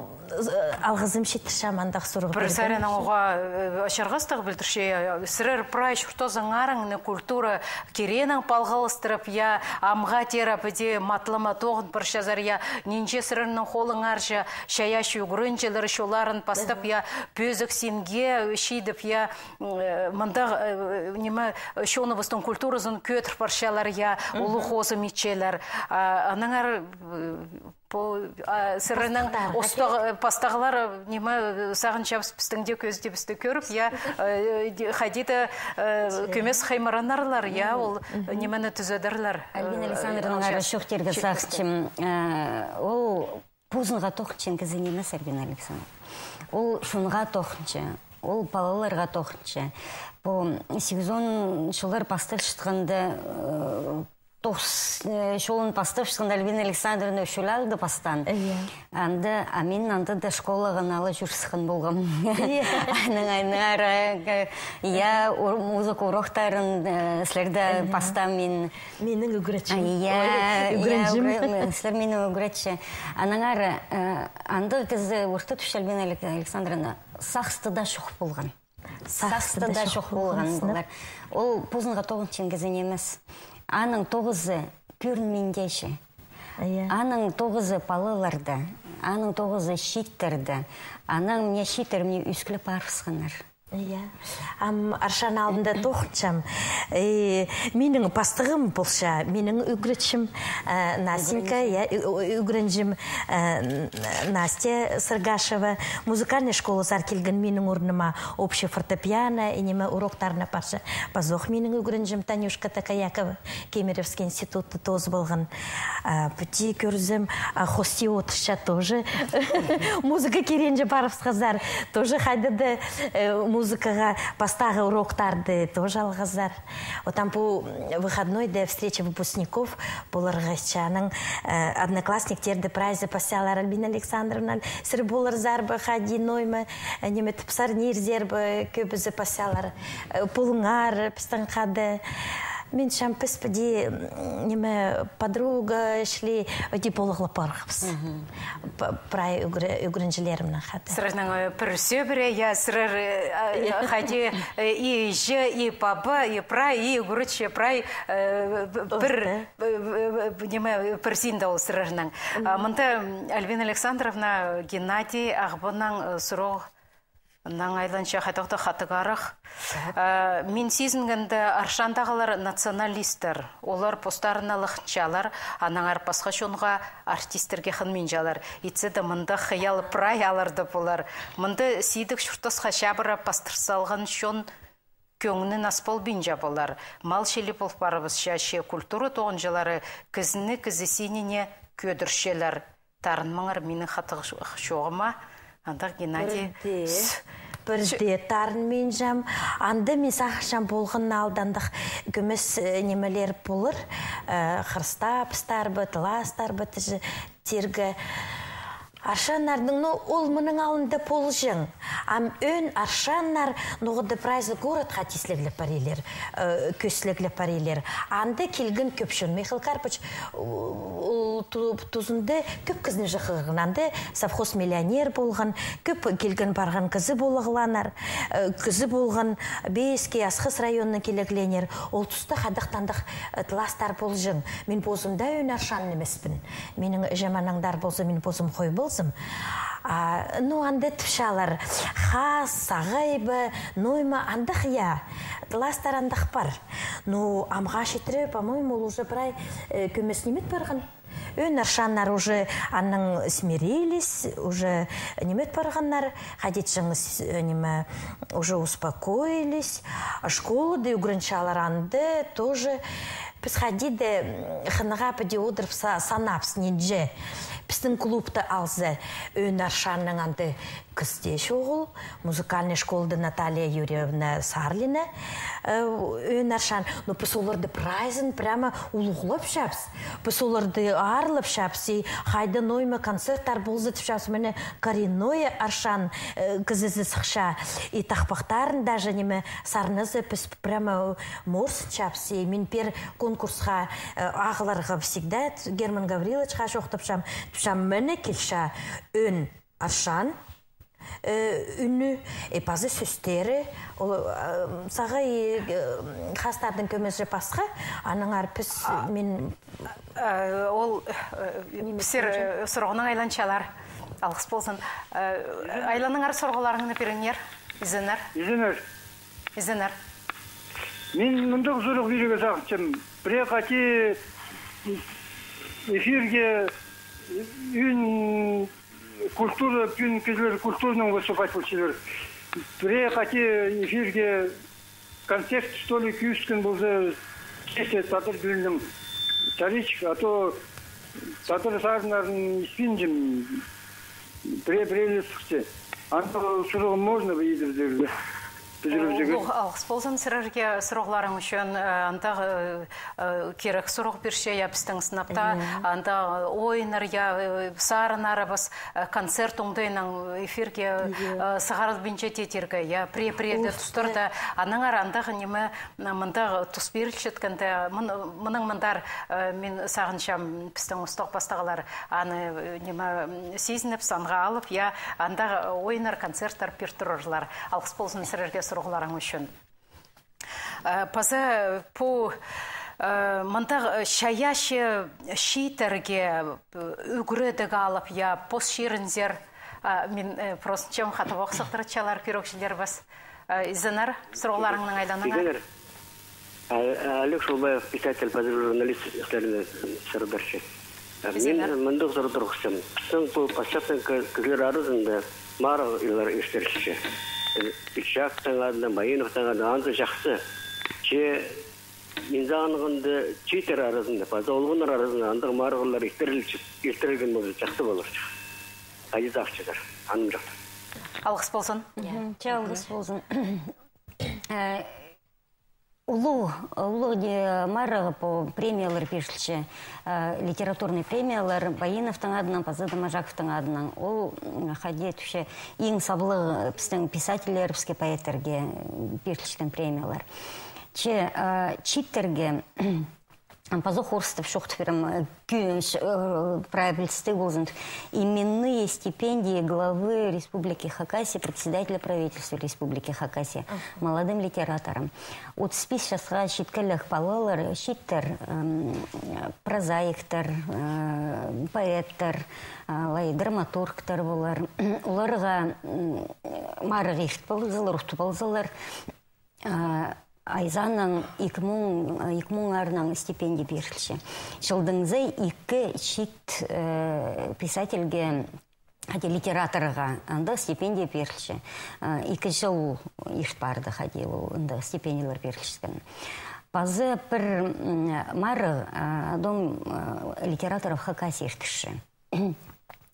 Алғызым читірчем андағ сурығ. Пір саринаң оға, э, ачырғастығ пілдірче, сірер прай чуртазыңарың, не, культура киренең палғалыстырып, я, амға тиріп, іди матлама тоғын парчазар, я, нинҷе сірернің холыңарҷа чайаачы ӱгренҷілер, чолларын пастап, я, пӧзік синге чидіп, я, м, э, мындағ, э, ниме, чоныбыстың культуразын кӧдір парчалар, я, улуғ хозым итчелер. А, аннаңар, э, Пу, а, сірернің пастағлар, устағ-, э, пастағлар, э, ниме, э, сағынчабыс, пістің дее кӧзідібісті кӧріп, я, э, де-, хайди даа, э, кӧмес хаймыранарлар, я, ол, э, нимені тӱзедерлер. Альбина Александровнаға чох тирге сағынчам, э, ол позынға тоғынчаң кізі нимес, Альбина Александровна. Ол чонға тоғынча, ол палаларға тоғынча. Пу сигізон чыллар пасталчатханда, э, Тоғыс, э, чолын пастапчатхан Альбина Александровна ӱчӱл алды пастаан. Иә. Анда, а мин анда даа школаға ала чӧрчеткен полғам. Иә. Аның, аның ара, э, я, ур-, музыка уроктарын, э, сірерде пастаам мин. Минің ӱгретчім. А, иә, ӱгренҷім. Сірер минің ӱгретчі. Аның ара, э, анда кізі ортытча Альбина Алек-, Александровна, сағысты даа чох полған. Сағысты даа чох полған полар. Ол позынға тоғынчаң кізі нимес. Аның тоғызы кӧрінминче. Иә. Аның тоғызы палаларда, аның тоғызы чииттерде. Анаң мына чииттер мына ӧскілеп парыбысханнар. Иә. Ам Аршан аалында тоғынчам. Э, минің пастығым полча, минің ӱгретчім, э, Настенька, я, ӱ-, ӱ-, ӱгренҷім, э, Н-, Настя Сыргашева. Музыкальный школазар килген минің орныма. Общий фортепиано, и ниме, уроктарына парча. Пазох минің ӱгренҷім Танюшка Такаякова, Кемеровский институтты тоозып алған. А, піди кӧрзем, а, хости одырча тоже. Музыка киренҷе парыбысхазар. Тоже хайда даа, э, музыкаға пастағы уроктарды тоже алғазар. Отам пу выходнойда встреча выпускников поларға чааның, э, одноклассниктерді прайзы пасчалар: Альбина Александровна, сірер поларзар ба, хайди, ноо ма, э, ниме, тіпсарнирзер ба, кӧбізі пасчалар, э, полыңар, пістің хада. Мин чам піс піди, м, ниме, подруга, ішлі, піди полығлап парғабыс. П-, прай ӱгре-, ӱгренҷілерімнің хада. Сірернің, э, пір сӧбіре, я, сірер, э, а, хайди, э, и іҷе, и паба, и прай, и ӱгретчі, прай, э, п-, пір, э, э, э, ниме, пір синде ол сірернің. А, мында, м, Альбина Александровна, Геннадий Ағбанның, э, сурығ Наң айланча хайдағ-да хатығ арах. Э, мин сизінгенде, Аршандағылар националистер, олар постарын алынчалар, аннаңар пасха чонға, артистерге хынминчалар. Итсе дее мында хыял прай аларда полар. Мында сидік чуртасха чабыра пастыр салған чон кӧңнін ас полбинча полар. Мал чіли пол парыбысча, че культура тоғынҷылары кізіні кізі синіне кӧдірчелер. Тарынмаңар минің хатығ чо-, чоғыма, андағ Геннадий. Пірдее, пірдее тарынминчам. Анда мин сағынчам, полған аалда андағ кӧмес, э, нимелер полар, э, хырыстабыстар ба, тыластар ба, тіҷе, тирге. Аршаннарның, ну, ол мының алнында полҷаң. Ам ӧӧн аршаннар, ноға-да прайзы городха тислеглеп парирлар, э, кӧслеглеп парирлар. Анда килген кӧп чон. Михаил Карпыч, у-, у-, ту-, тузында кӧп кізіні чыххырған. Анда совхоз миллионер полған, кӧп килген-парған кізі полығлааннар, э, кізі полған, Бейский, Асхыс районына килеглееннер. Ол туста хайдағ-да андағ, э, тыластар полҷаң. Мин позым даа ӧӧн аршан нимеспін. Минің іҷем-анам тар полза, мин позым хой ползам. А, ну, анда тіпчелер, хас, сағай ба, ноо ма, андағ, я, тыластар андағ пар. Ну, амға читіре, по-моему, ол уже прай, э, кӧмес ниме ит парған. Ӧӧн аршааннар уже аннаң смирились, уже ниме ит парғаннар, хайди чоңыс, э, ниме, уже успокоились. Школада ӱгренчелер анда тоже. Піс хайди даа, м, хынығ піди одырып са-, санаабыс нинҷе. Пістің клубта алза, ӧӧн аршааннаң анда кізі дее чоғыл, музыкальный школада Наталья Юрьевна Сарлина, э, ӧӧн аршаан. Но піс оларны прайзын прямо улуғлапчабыс. Піс оларны аарлапчабыс. И хайда ноо ниме концерттер полза тіпчебіс. Мына коренной аршаан, э, кізізі сыхча. И тахпахтарын даже ниме сарназа, піс прямо морсынчабыс. И мин пір конкурсха, э, ағыларға всегда Герман Гавриловичха чоохтапчам. Тіпчем, мына килче ӧӧн аршаан, э, ӱні, э, паза сӧстері, ол, э, сағай, э, хастарның кӧмезі пасха, аннаңар піс, мин... Э, ол, э, пістер, э, сурығнаң айланчалар. Алғыс ползын. Э, айланыңар, сурығларыңны пиріңер. Изеннер. Изеннер. Изеннер. Мин мындағ сурығ пирерге сағынчам. Пірее хати эфирге ӱн культура, пӱӱн кізілер культураның выступать полчалар. Пірее хати эфирге концерт, что ли, кӧзіткен полза, чисто тадар тілінең чарир, а то тадар сарыннарын испинчем, піре-, піреелер сыхча. Анда сурығ можно ба идерге? Пӱдіріп... Улуғ алғыс ползын сірерге сурығларың ӱчӱн, э, андағ, э, э, кирек сурығ пирче, я, пістің сынап таа, анда, э, ойыннар, я, э, сарыннарыбыс, э, концерт оңдайынаң эфирге, э, сығарылбинча тидірге, я, піре-, піреелер тустарда, аннаңар андағ ниме, мындағ тус пирілчеткенде, мын-, мының мындар, э, мин сағынчам, пістің устағ-пастағлар аны, э, ниме, м, сизініп, санға алып, я, андағ ойыннар, концерттер пир турарлар. Алғыс ползын сірерге сурығларың ӱчӱн. Э, паза пу, э, мындағ, э, чайаачы чииттерге, э, ӱгредіг алып, я, пос чирінзер, а, мин, э, простынчам, хатап ох сыхтырчалар кӧрігҷілерібіс. Э, изеннер, сурығларыңнаң айланыңар. Изеннер. А, а, Олег Шулбаев, писатель, паза журналист, сірерні сырдарча. А мин мындағ сурығ турғысчам. Пістің пу пасчахтың кізілер аразында марығлар иртірілче. Ильчаковтың адынаң, Баиновтың адынаң, анзы чахсы. Че мин сағынғанда, чииттер аразында, паза олғаннар аразында андағ марығлар иртірілче, иртірілген полза, чахсы поларҷых. Хайди сағынчазар, анымҷахтар? Алғыс ползын. Че, алғыс ползын. Э, улуғ, улуғ даа марығ, пу премиялар пирілче, э, литературный премиялар Баиновтың адынаң, паза Доможаковтың адынаң. Ол, м, хайди тіпче, иң саблығ, э, пістің писательлерібіске, поэттерге, м, пирілчеткен премиялар. Че, э, чииттерге, пазох орыстап чоохтап пирем, э, кӱ-, ш-, э, прай пілістіг ползын. Именные стипендии главы Республики Хакасия, председателя правительства Республики Хакасия, молодым литераторам. Отыс пис часха читкелек палалар, чииттер, м, прозаиктер, э, поэттер, э, алай драматургтар полар. Оларға, м, марығ ирт ползалар, ут ползалар. А, айзанаң ікі муң, ікі муң арнаң стипендия пирілче. Чылдың сай ікі чиит, э, писательге, хайди, литераторға андағ стипендия пирілче. Э, ікі чыл ирт парды, хайди, ол андағ стипендиялар пирілчеткен. Паза пір, м, марығ, а, Дом, э, литераторов Хакасии иртірче.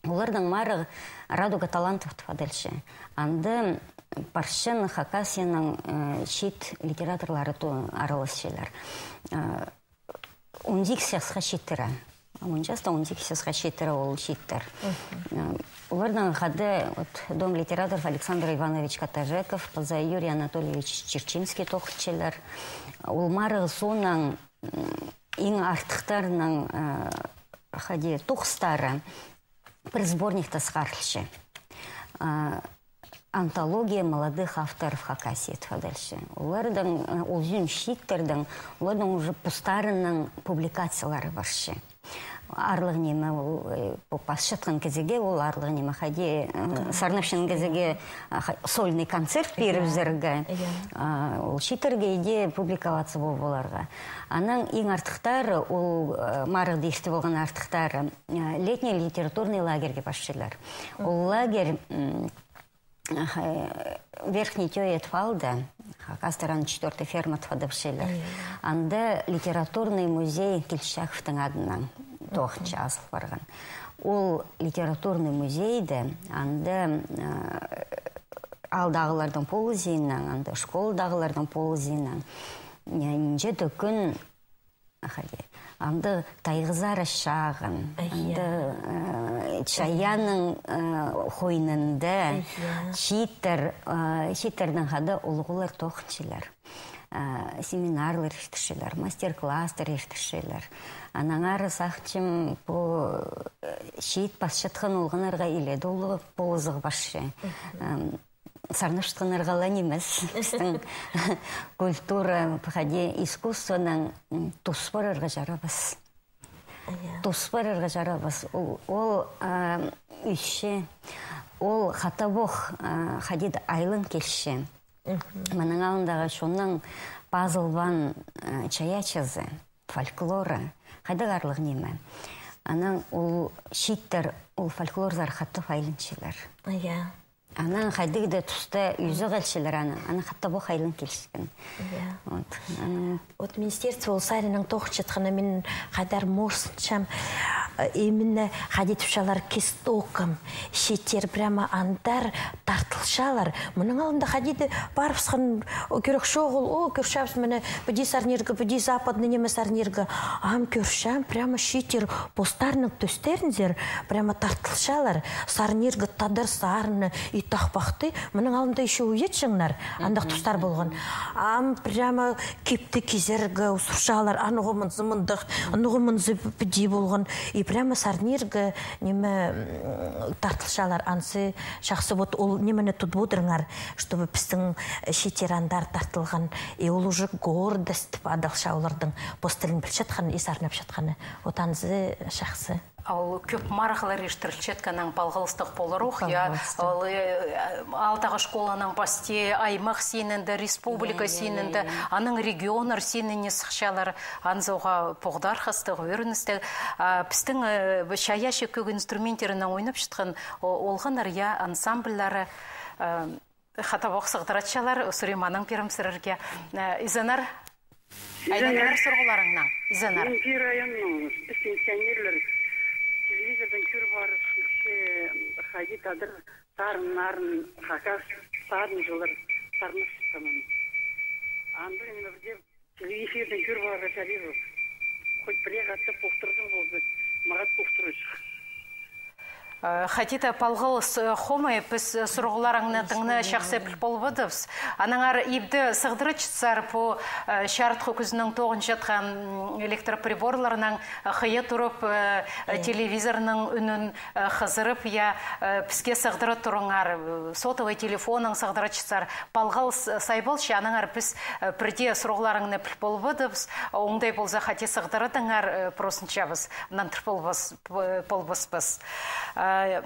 Оларның марығ «Радуга талантов» тіп адалча. Анда парчан Хакасияның, э, чиит литераторлары ту-, араласчалар. Э, он сигіс часха читіре. Он часта он сигіс часха читіре ол чииттер. Э, оларның хада, вот, Дом литераторов Александр Иванович Катажеков, паза Юрий Анатольевич Черчинский тоғынчалар. Ол марығ соонаң, м, иң артыхтарынаң, э, хайди, тоғыстары пір сборникта сығарылча. А, «Антология молодых авторов Хакасии» тіп адалча. Оларның, э, ол ӱзӱн чииттернің, оларның уже постарының публикациялары парча. аарлығ ниме ол, э, пу пасчатхан кізіге ол аарлығ ниме хайди, э, сарнапчатхан кізіге, а, хай-, сольный концерт пирібізерге. Ол чииттерге иди публиковаться пол-, поларға. Анаң иң артыхтары, ол, э, марығда иртіп алған артыхтары, э, летний литературный лагерьге парчалар. Ол лагерь, м, Ах, э, Верхний Тёет палда, Хакас тараның четвёртый ферма тіп адапчалар. Анда литературный музей Кильчичаковтың адынаң тоғынча азыл парған. Ол литературный музейде анда, э, аалдағылардың полызынаң, анда школадағылардың полызынаң, э, нинҷе-де кӱн Хайди. Анда тайғазар чағын, анда, э, чайаанның, э, хойнында чииттер, э, чииттернең хада улуғлар тоғынчалар. Э, семинарлар иртірчелер, мастер-класстар иртірчелер. Аннаңар сағынчам, пу, э, чиит пасчатхан олғаннарға илееде улуғ полызығ парча. Ам, сарнапчатханнарға ла нимес. Пістің культура, хайди, искусствонаң, м, тус парарға чарабас. Тус парарға чарабас. Ол, ол, а, ӱсче, ол хатабох, а, хайди-да айлан килче. Мының алнындағы чонның пазылбаан, а, чайаачызы, фольклоры, хайдағ аарлығ ниме. Анаң ол чииттер, ол фольклорзар хатап айланчалар. Анаң хайдағ-да туста ӱзе халчалар анаң, анаң хатабох айлан килчеткен. Вот, анаң вот министерство ол саринаң тоғынчатханы мин хайдар морсынчам, э, именно хайди тіпчелер, к истокам. Чииттер прямо андар тартылчалар. Мының алнында хайди-да парыбысхан, о, кирек чоғыл, о, кӧрчебіс, мына, піди сарнирға, піди западный ниме сарнирға. Ам кӧрчем, прямо чииттер постарының тӧстерінзер прямо тартылчалар. Сарнирға тадар сарны и тахпахты. Мының алнында ещё уятчаңнар, андағ тустар полған. Ам прямо кипті кизерге узурчалар, аны оғаа мынзы мындағ, аны оғаа мынзы піди полған. И прямо сарнирға, ниме, м, тартылчалар, анзы чахсы. Вот ол нимені тудып одырыңар, чтобы пістің, э, чииттер андар тартылған. И ол уже гордость тіп адалча олардың пос тілін пілчетхені и сарнапчатханы. Вот анзы чахсы. Ол кӧп марығлар иртірілчеткеннең палғалыстығ полар ох, я. Ол, э, аалдағы школаның пасти аймах синінде, республика синінде, анаң регионнар синіне сыхчалар, анзы оғаа поғдархастығ, ӧріністіг. А пістің, э, чайаачы кӧг инструменттерінең ойнапчатхан олғаннар, я, ансамбльлары, э, хатабох сығдыратчалар, сурим анаң пирем сірерге. Э, изеннер, айланыңар сурығларыңнаң, изеннер. Мин пир айымның, піс пенсионерлер, телевизордаң кӧр парып, ӱлче хайди тадар сарыннарын, хакас сарынҷылар сарнапчатханын. Анда мин пірдее телеэфирдең кӧр парарға чарир. Хоть пірее хатап полтырзың полза, мағат полтырҷых. Э, хайди даа палғалыс, э, хомай, піс, э, сурығларыңны тың на чахсы піл полбадыбыс. Аннаңар ибде сығдыратчатсар пу, э, чарытхы кӱзінең тоғынчатхан, м, электроприборларнаң, э, хыйа турып, э, э, телевизорның ӱнін, э, хызырып, я, э, піске сығдыра турыңар, э, сотовый телефоннаң сығдыратчатсар. Палғалыс, э, сайбалча, аннаңар піс, э, пірдее сурығларыңны піл полбадыбыс. Оңдай полза, хайди сығдырадыңар, э, просынчабыс, нандыр полбас, п-, полбаспыс. Э,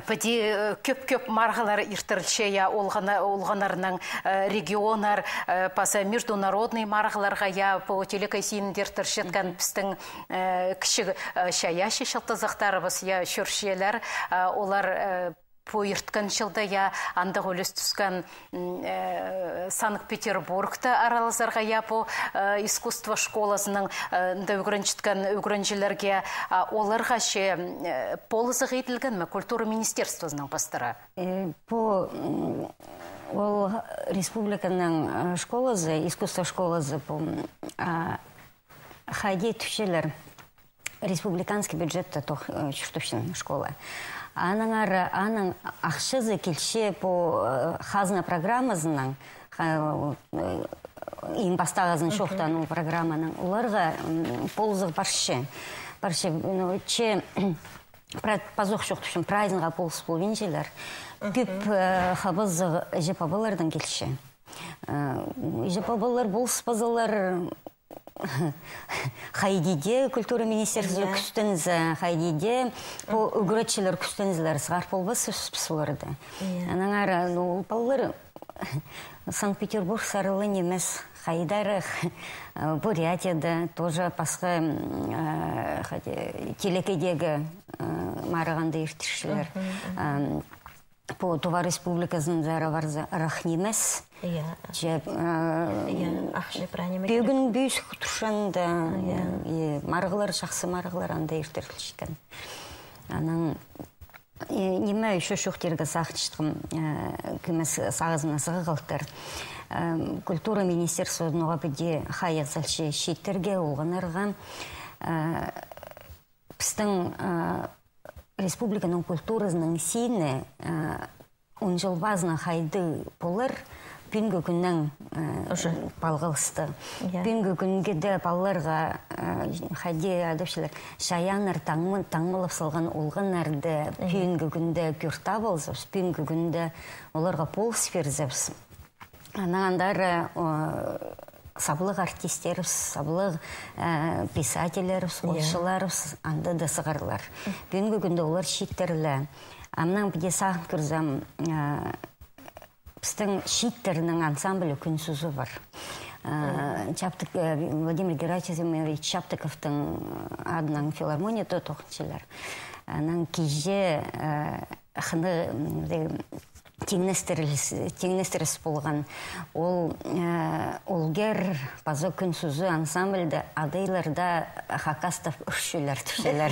піди, э, кӧп-кӧп марығлар иртірілче, я, олғана-, олғаннарның, э, регионнар, э, паза международный марығларға, я, пу телекей синінде иртірчеткен пістің, э, кічіг, э, чайаачы чылтызахтарыбыс, я, чӧрчелер, э, олар, э, пу ирткен чылда, я, андағ ӱлес тӱскен, м, э, Санкт-Петербургта аралазарға, я, пу, э, искусство школазының, э, ында ӱгренчеткен ӱгренҷілерге, а, оларға че, м, э, полызығ иділген ме культура министерствозының пастыра? Э, пу, м, ол республиканың, э, школазы, искусство школазы, пу, м, а, хайди тіпчелер, республиканский бюджетте тох-, э, чуртапчаң школа. Аннаңар, аның ахчазы килче пу, э, хазна программазынаң, ха-, э, иң пастағызын чоохтаан ол программаның. Оларға, м, полызығ парча. Парча, ну, че, пра-, пазох чоохтапчам, прайзынға полыс полбинчалар. Кӧп, э, хабазығ іҷе-пабалардаң килче. Э, іҷе-пабалар полыспазалар, хайди дее культура министерствозы кӱстензе, хайди дее пу ӱгретчілер кӱстензелер, сығар полбаспыс піс оларны. Аннаңар, ну, ол палалар Санкт-Петербург сарыла нимес, хайдарах, Бурятияда тоже пасха, м, э, хайди, телекейдегі, э, марығанда иртірчелер. Ам, пу Тува Республиказында ара парза, ырах нимес. Че, э, пӱӱн пӧзік турчаң анда, и марығлар, чахсы марығлар анда иртірілчеткен. Анаң, э, ниме ещё чоохтирға сағынчатхам, э, кӧмес сағызымнаң сығып халтыр. Э, культура министерствозы ноға піди хайығ салча чииттерге, олғаннарға. Э, пістің, э, республиканың культуразының сині, э, он чыл пазынаң хайдағ полар, пӱӱнгі кӱннең, э, палғалыстығ. Пӱӱнгі кӱнге дее палаларға, э, хайди адапчалар, чайааннар таңма-, таңмалап салған олғаннарды пӱӱнгі кӱнде кӧр таап алзабыс, пӱӱнгі кӱнде оларға полыс пирзебіс. Анаң андар, э, о, саблығ артистерібіс, саблығ, э, писательлерібіс, ойшыларыбыс анда даа сығарлар. Пӱӱнгі кӱнде олар чииттер ле. Амнаң піди сағын кӧрзем, э, пістің чииттернің ансамблі «Кӱн сузы» пар. Э, Чаптык-, э, Владимир Герасимович Чаптыковтың адынаң филармония то-, тоғынчалар. Анаң киҷе, э, хыны, м, тиңнестіріліс-, тиңнестіріс полған. Ол, э, «Олгер» паза «Кӱн сузы» ансамбльде адайларда хакастап ӱрчелер, тіпчелер.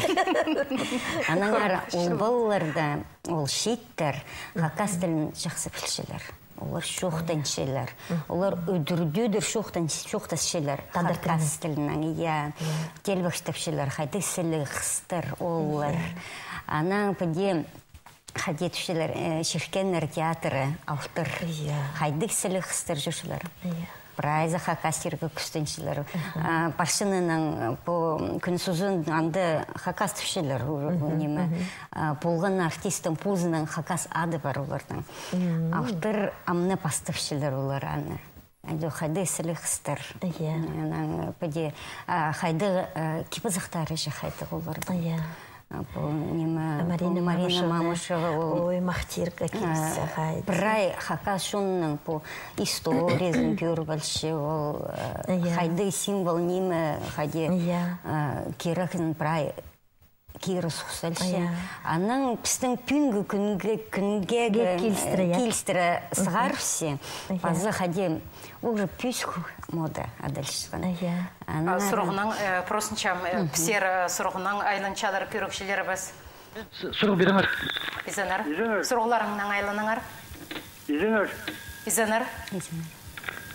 Аннаңар ол палаларда ол чииттер хакас тілін чахсы пілчелер. Олар чоохтанчалар. Олар ӱдӱр-тӧдір чоохтан-, чоохтасчалар хакас тілінең, я. Теелбестепчелер, хайдағ сіліг хыстар олар. Анаң піди хайди тіпчелер, э, чиркеннер театры «Алтыр». Хайдағ сіліг хыстар чӧрчелер. Прайзы хакастирға кӱстенчелер. А, парчанаң, э, пу «Кӱн сузын» анда хакастапчалар, у-, у-, ниме. А, полған артисттің позының хакас ады пар оларның. «Алтыр» амны пастапчалар олар аны. Хайдағ сіліг хыстар. Анаң піди, а, хайдағ, э, кип-азахтары че хайдағ оларның. А, пу ниме, Марина Мамышева. Ой, махтирға килзе, хайди. Прай хакас чонның пу историязын кӧріп алча ол, э, хайдағ символ ниме, хайди, э, кирегін прай кирі сухсалча. Анаң пістің пӱӱнгі кӱнге, кӱнге килістіре, я? Килістіре сығарча. Паза хайди уже пӧзік мода адалчатхан. А, сурығнаң, э, простынчам, э, пісер, э, сурығнаң айланчалар кӧрігҷілерібіс. С-, сурығ пиріңер. Изеннер. Изеннер. Сурығларыңнаң айланыңар. Изеннер. Изеннер.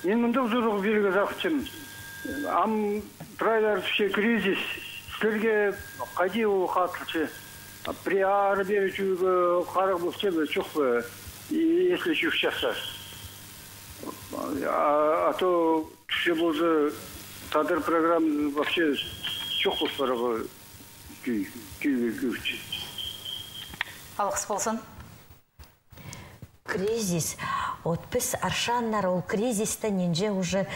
Мин мындағ сурығ пирерге сағынчам. Ам прайлар тіпче кризис. Сірерге хайди ол хатылча? Пірее ары-пеері чӧрерге харығ полча ба, чох па? И если чӧрчезер. А, а то тіпче полза, тадар программа вообще чох пол парарға кӧ-, кӧ-, кӧрче. Алғыс ползын. Кризис. Вот піс арчаннар ол кризисті нинҷе уже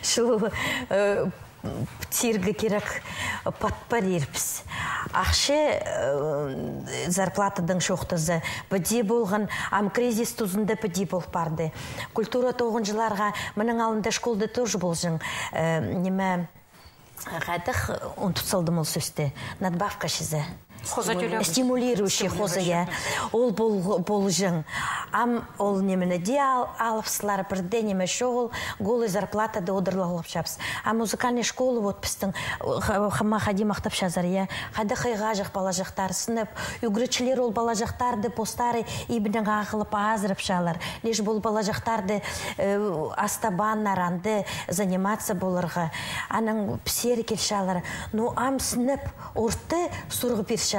чыл, э, тирге кирек, пат парирбыс. Ахча, э, зарплатадаң чоохтаза, піди полған, ам кризис тузында піди пол парды. Культура тоғынҷыларға, мының алнында школда тоже полҷаң, э, ниме, хайдағ, унтып салдым ол сӧсті. Надбавка чізе. Хоза тӧлег. Стимулирующий хоза, я. Ол пол-, полҷаң. Ам ол нимені дее ал-, алыбыссалар, пірдее ниме чоғыл, голый зарплатада одырылып алчабыс. А музыкальный школа вот пістің, ха-, хама хайди махтапчазар, я. Хайдағ хыйғаҷах палаҷахтар, сынап, ӱгретчілер ол палаҷахтарды постары ибінең ағылып азырапчалар. Лишь пу палаҷахтарды, э, астабааннар анда заниматься поларға. Анаң пісер килчелер. Ну, ам сынап орта сурығ пирчелер.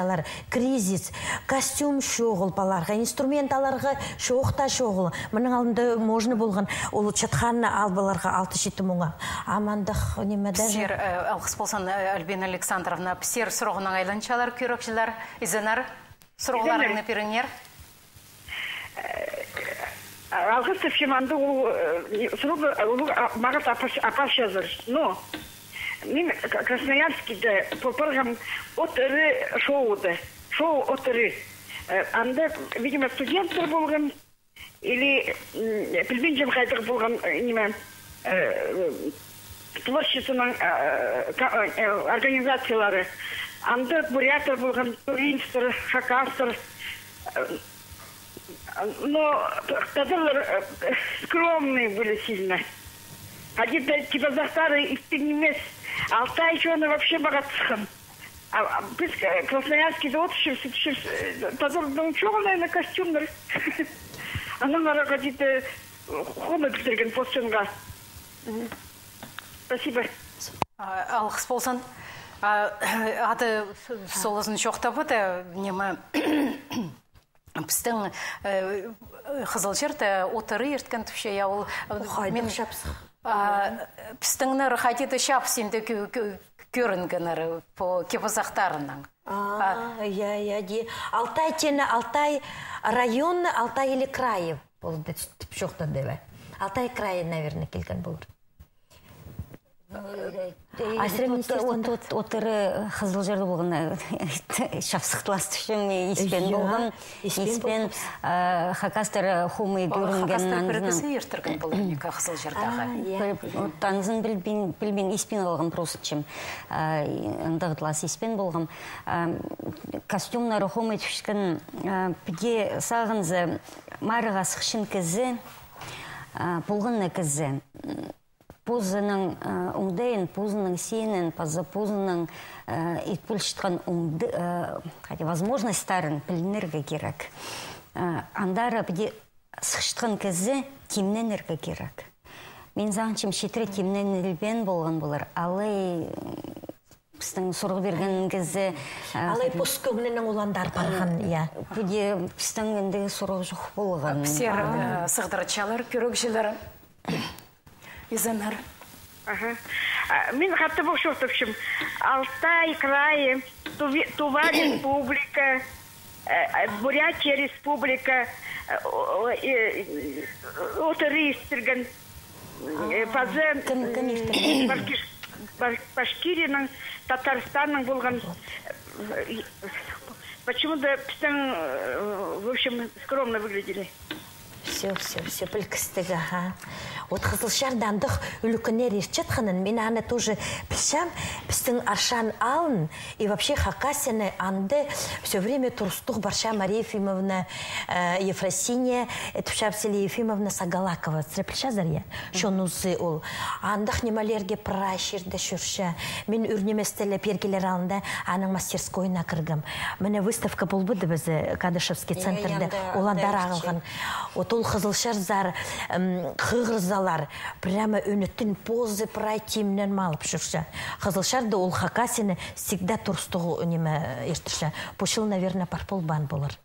Кризис. Костюм чоғыл паларға, инструмент аларға чоох та чоғыл. Мының алнында можно полған ол чатханны алып аларға алты-читі муңа. Ам андағ ниме даже. Пісер, э, алғыс ползын, э, Альбина Александровна, пісер сурығнаң айланчалар кӧрігҷілер. Изеннер. Сурығларыңны пиріңер. Алғыс тіпчем, анда ол, э, сурығ, ол, а, мағат апарчазар. Ну, Мин К-, Красноярскиде пол парғам «От ыры» шоуда. Шоу «От ыры». Э, анда, видимо, студенттер полған, или, м, пілбинчем, хайдағ полған, э, ниме, э, творчествоның, э, ка-, э, организациялары. Анда буряттар полған, тувинецтер, хакастар. Э, но тадарлар, э, скромные были сильно. Хайди-да кип-азахтары истіг нимес. Алтай чоны вообще мағат сыххан. А, а піс, э, Красноярскийде одырчабыс, одырчабыс, э, тадарларның чоғыл, наверное, костюмнар. Анаң ары хайди-да, э, хомай пілдірген постың. Мгм. Спасибо. А, алғыс ползын. А, ады солазын чоохтабады, ниме, пістің, э, Хызылчарда «От ыры» ирткен тіпче, я, ол, э, хайдағ чапсых. А, пістіңнер хайди-да чапсых анда кӧ-, кӧ-, кӧрінгеннер по кип-азахтарынаң. А, я, я, ди. Алтай теені, Алтай районы, Алтай или крайы полды тіп чоохтады ба. Алтай крайы, наверное, килген полар. Асырен от, от, от ыры Хызылчарда полған, э, чапсыхтылас тіпчем, испен полған, испен, э, хакастар, э, хомай кӧрінген. Хакастар пірігізі иртірген полар ниме Хызылчардағы. Танзын пілбин, пілбин, испен алған просто чым. Э, андағ тылас испен полған. Э, костюмнары хомай тӱскен, э, піди сағынза, марығға сыхчаң кізі, э, полған на кізі. Позының, э, оңдайын, позының синін, паза позының, э, ит полчатхан оңды-, э, хайди, возможностьтарын пілінерге кирек. Э, андар піди сыхчатхан кізі тимненерге кирек. Мин сағынчам, читіре тимненілбеен полған полар. Алай, м, пістің сурығ пирген кізі, э, алай пос кӧңнінең ол андар парған, я. Піди пістің андағ сурығ чох полған. Пістер, э, сығдырчалар, кӧрігҷілер. Изеннер. Аха. А, мин хатап ох чоохтапчам. Алтай крайы, Туви-, Тува республика, э, э, Бурятия республика, э, о-, о-, э, от ыры иртірген, э, паза, кім, кім иртірген? Башкир-, Баш-, Башкирияның, Татарстанның полған, э, и почему-то пістің, э, в общем, скромно выглядели. Всё, всё, всё, пілгістіг, аха. От Хызылчарда андағ ӱлӱкӱннер иртчетханын, мин аны тоже пілчем, пістің Аршан аалын, и вообще Хакасияны анда всё время турыстығ парча Мария Ефимовна, э, Ефросинья, э, тіпчебіс, или Ефимовна Сагалакова, сірер пілчезер, я? Чон узы ол. Андағ нимелерге прай чирде чӧрче. Мин ӱр ниместе ле пергілер алнында аның мастерскойына кіргем. Мына выставка полбады пізе Кадышевский центрде, ол андар ағылған. От ол хызылчарзар, м, хығырзалар, прямо ӱнетін позы прай тимнен малып чӧрче. Хызылчарда ол Хакасияны всегда турыстығ ниме иртірче. Пу чыл, наверное, пар полбаан полар.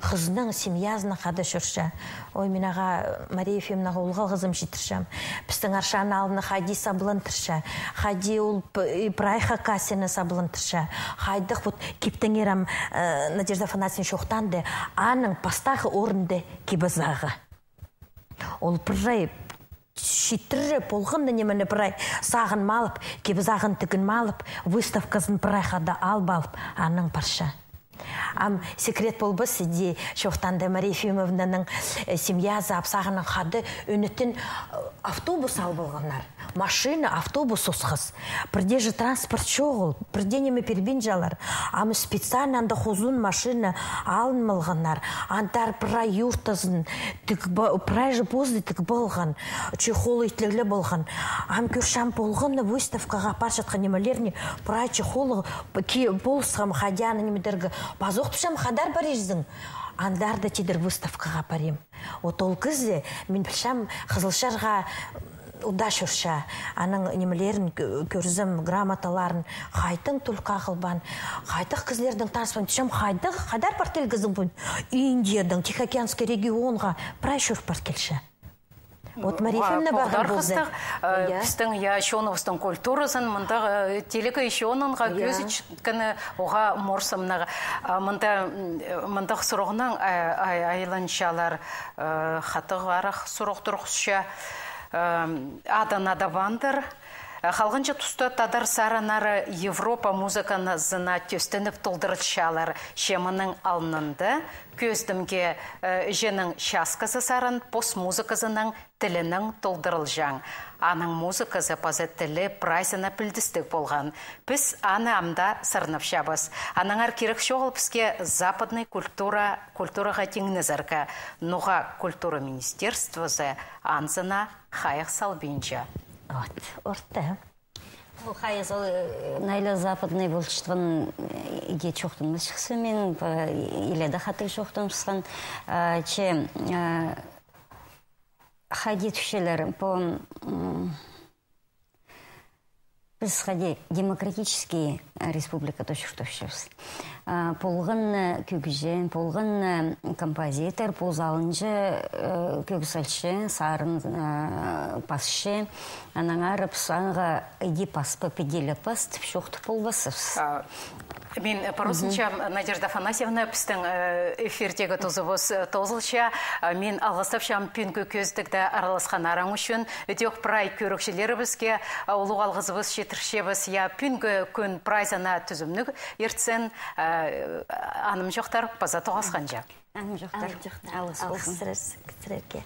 Хызының семьязынаң хада чӧрче. Ой, мин ағаа, Мария Ефимовнаға улуғ алғызым читірчем. Пістің Аршан аалны хайди сабландырча, хайди ол п-, и прай Хакасияны сабландырча. Хайдағ вот киптеңер ам, э, Надежда Афанасьевна чоохтаанда, аның пастағы орында кип-азағы. Ол прай читіре полған на нимені прай сағын малып, кип-азағын тігін малып, выставказын прай хада алып алып, анаң парча. Ам секрет полбас, иди чоохтаанда, Мария Ефимовнаның, э, семьязы апсағының хада ӱнетін, э, автобус алып алғаннар. Машина, автобус осхас. Пірдее же транспорт чоғыл, пірдее ниме пирбинчелер. Ам специально андағ узун машина алын алғаннар. Андар прай юртазын тік ба-, прай же позы тік полған. Чехол итлегле полған. Ам кӧрчем, полған на выставкаға парчатхан нимелерні, прай чехолы ки-, полысхам, хайди аны нимедерге. Пазох тіпчем, хадар парирзың. Андар даа тидір выставкаға парим. От ол кізі, мин пілчем, Хызылчарға удаа чӧрче. Аның нимелерін кӧ-, кӧрзем, грамоталарын, хайдаң тӱлкі ағылбаан, хайдағ кізілердең таныс полбаан. Тіпчем, хайдағ, хадар пар килгезің пу Индиядаң, Тихоокеанский регионға прай чӧр пар килче. Вот Мария Ефимовна парған полза. Пістің, я, чоныбыстың культуразын, мындағ, э, тілігі чонынға кӧзіт кені оға морсымнағы. А мында, м, мындағ сурығнаң, а, ай-, айланчалар, э, хатығ арах сурығ турғысча, э, адан адабандыр, Халғанҷы туста тадар сарыннары Европа музыканзына тӧстеніп толдырылчалар. Че мының алнында кӧзідімге, э, іҷенің часказы сарын пос музыказының тілінең толдырылҷаң. Аның музыказы паза тілі прайзына пілдістіг полған. Піс аны амды сарнапчабыс. Аннаңар кирек чоғыл піске западный культура, культураға тиңнезерге. Ноға культура министерствозы анзына хайығ салбинча? Вот, орта. Ол хайығ сал, э, найлы западный волчествоның, э, иди чоохтанмас чыхсы, мин, э, иледе хатығ чоохтанмасхан, э, че, э, хайди тӱсчелер, по, м, піс хайди демократический, э, республикада чуртапчабыс. А, полған, э, кӧгҷі, полған, э, композитор, позы алынҷа, э, кӧг салча, сарын, э, пасча, аннаңар піс аңаа иди паспа, піди ле пас, тіп чоохтап полбасчабыс. А, мин, э, парусынчам, Надежда Афанасьевна, пістің, э, эфирдегі тузыбыс, э, тоозылча. А, мин алғыстапчам пӱӱнгі кӧзідігде араласханнарың ӱчӱн. Ідӧк прай кӧрігҷілерібіске, а, улуғ алғызыбыс читірчебіс. Я, пӱӱнгі кӱн прайзына тӱзімніг иртсін, а, анымҷохтар, паза тоғасханҷа. Анымҷохтар. Анымҷохтар. Алғыс ползын. Алғыс сірер-, сірерге.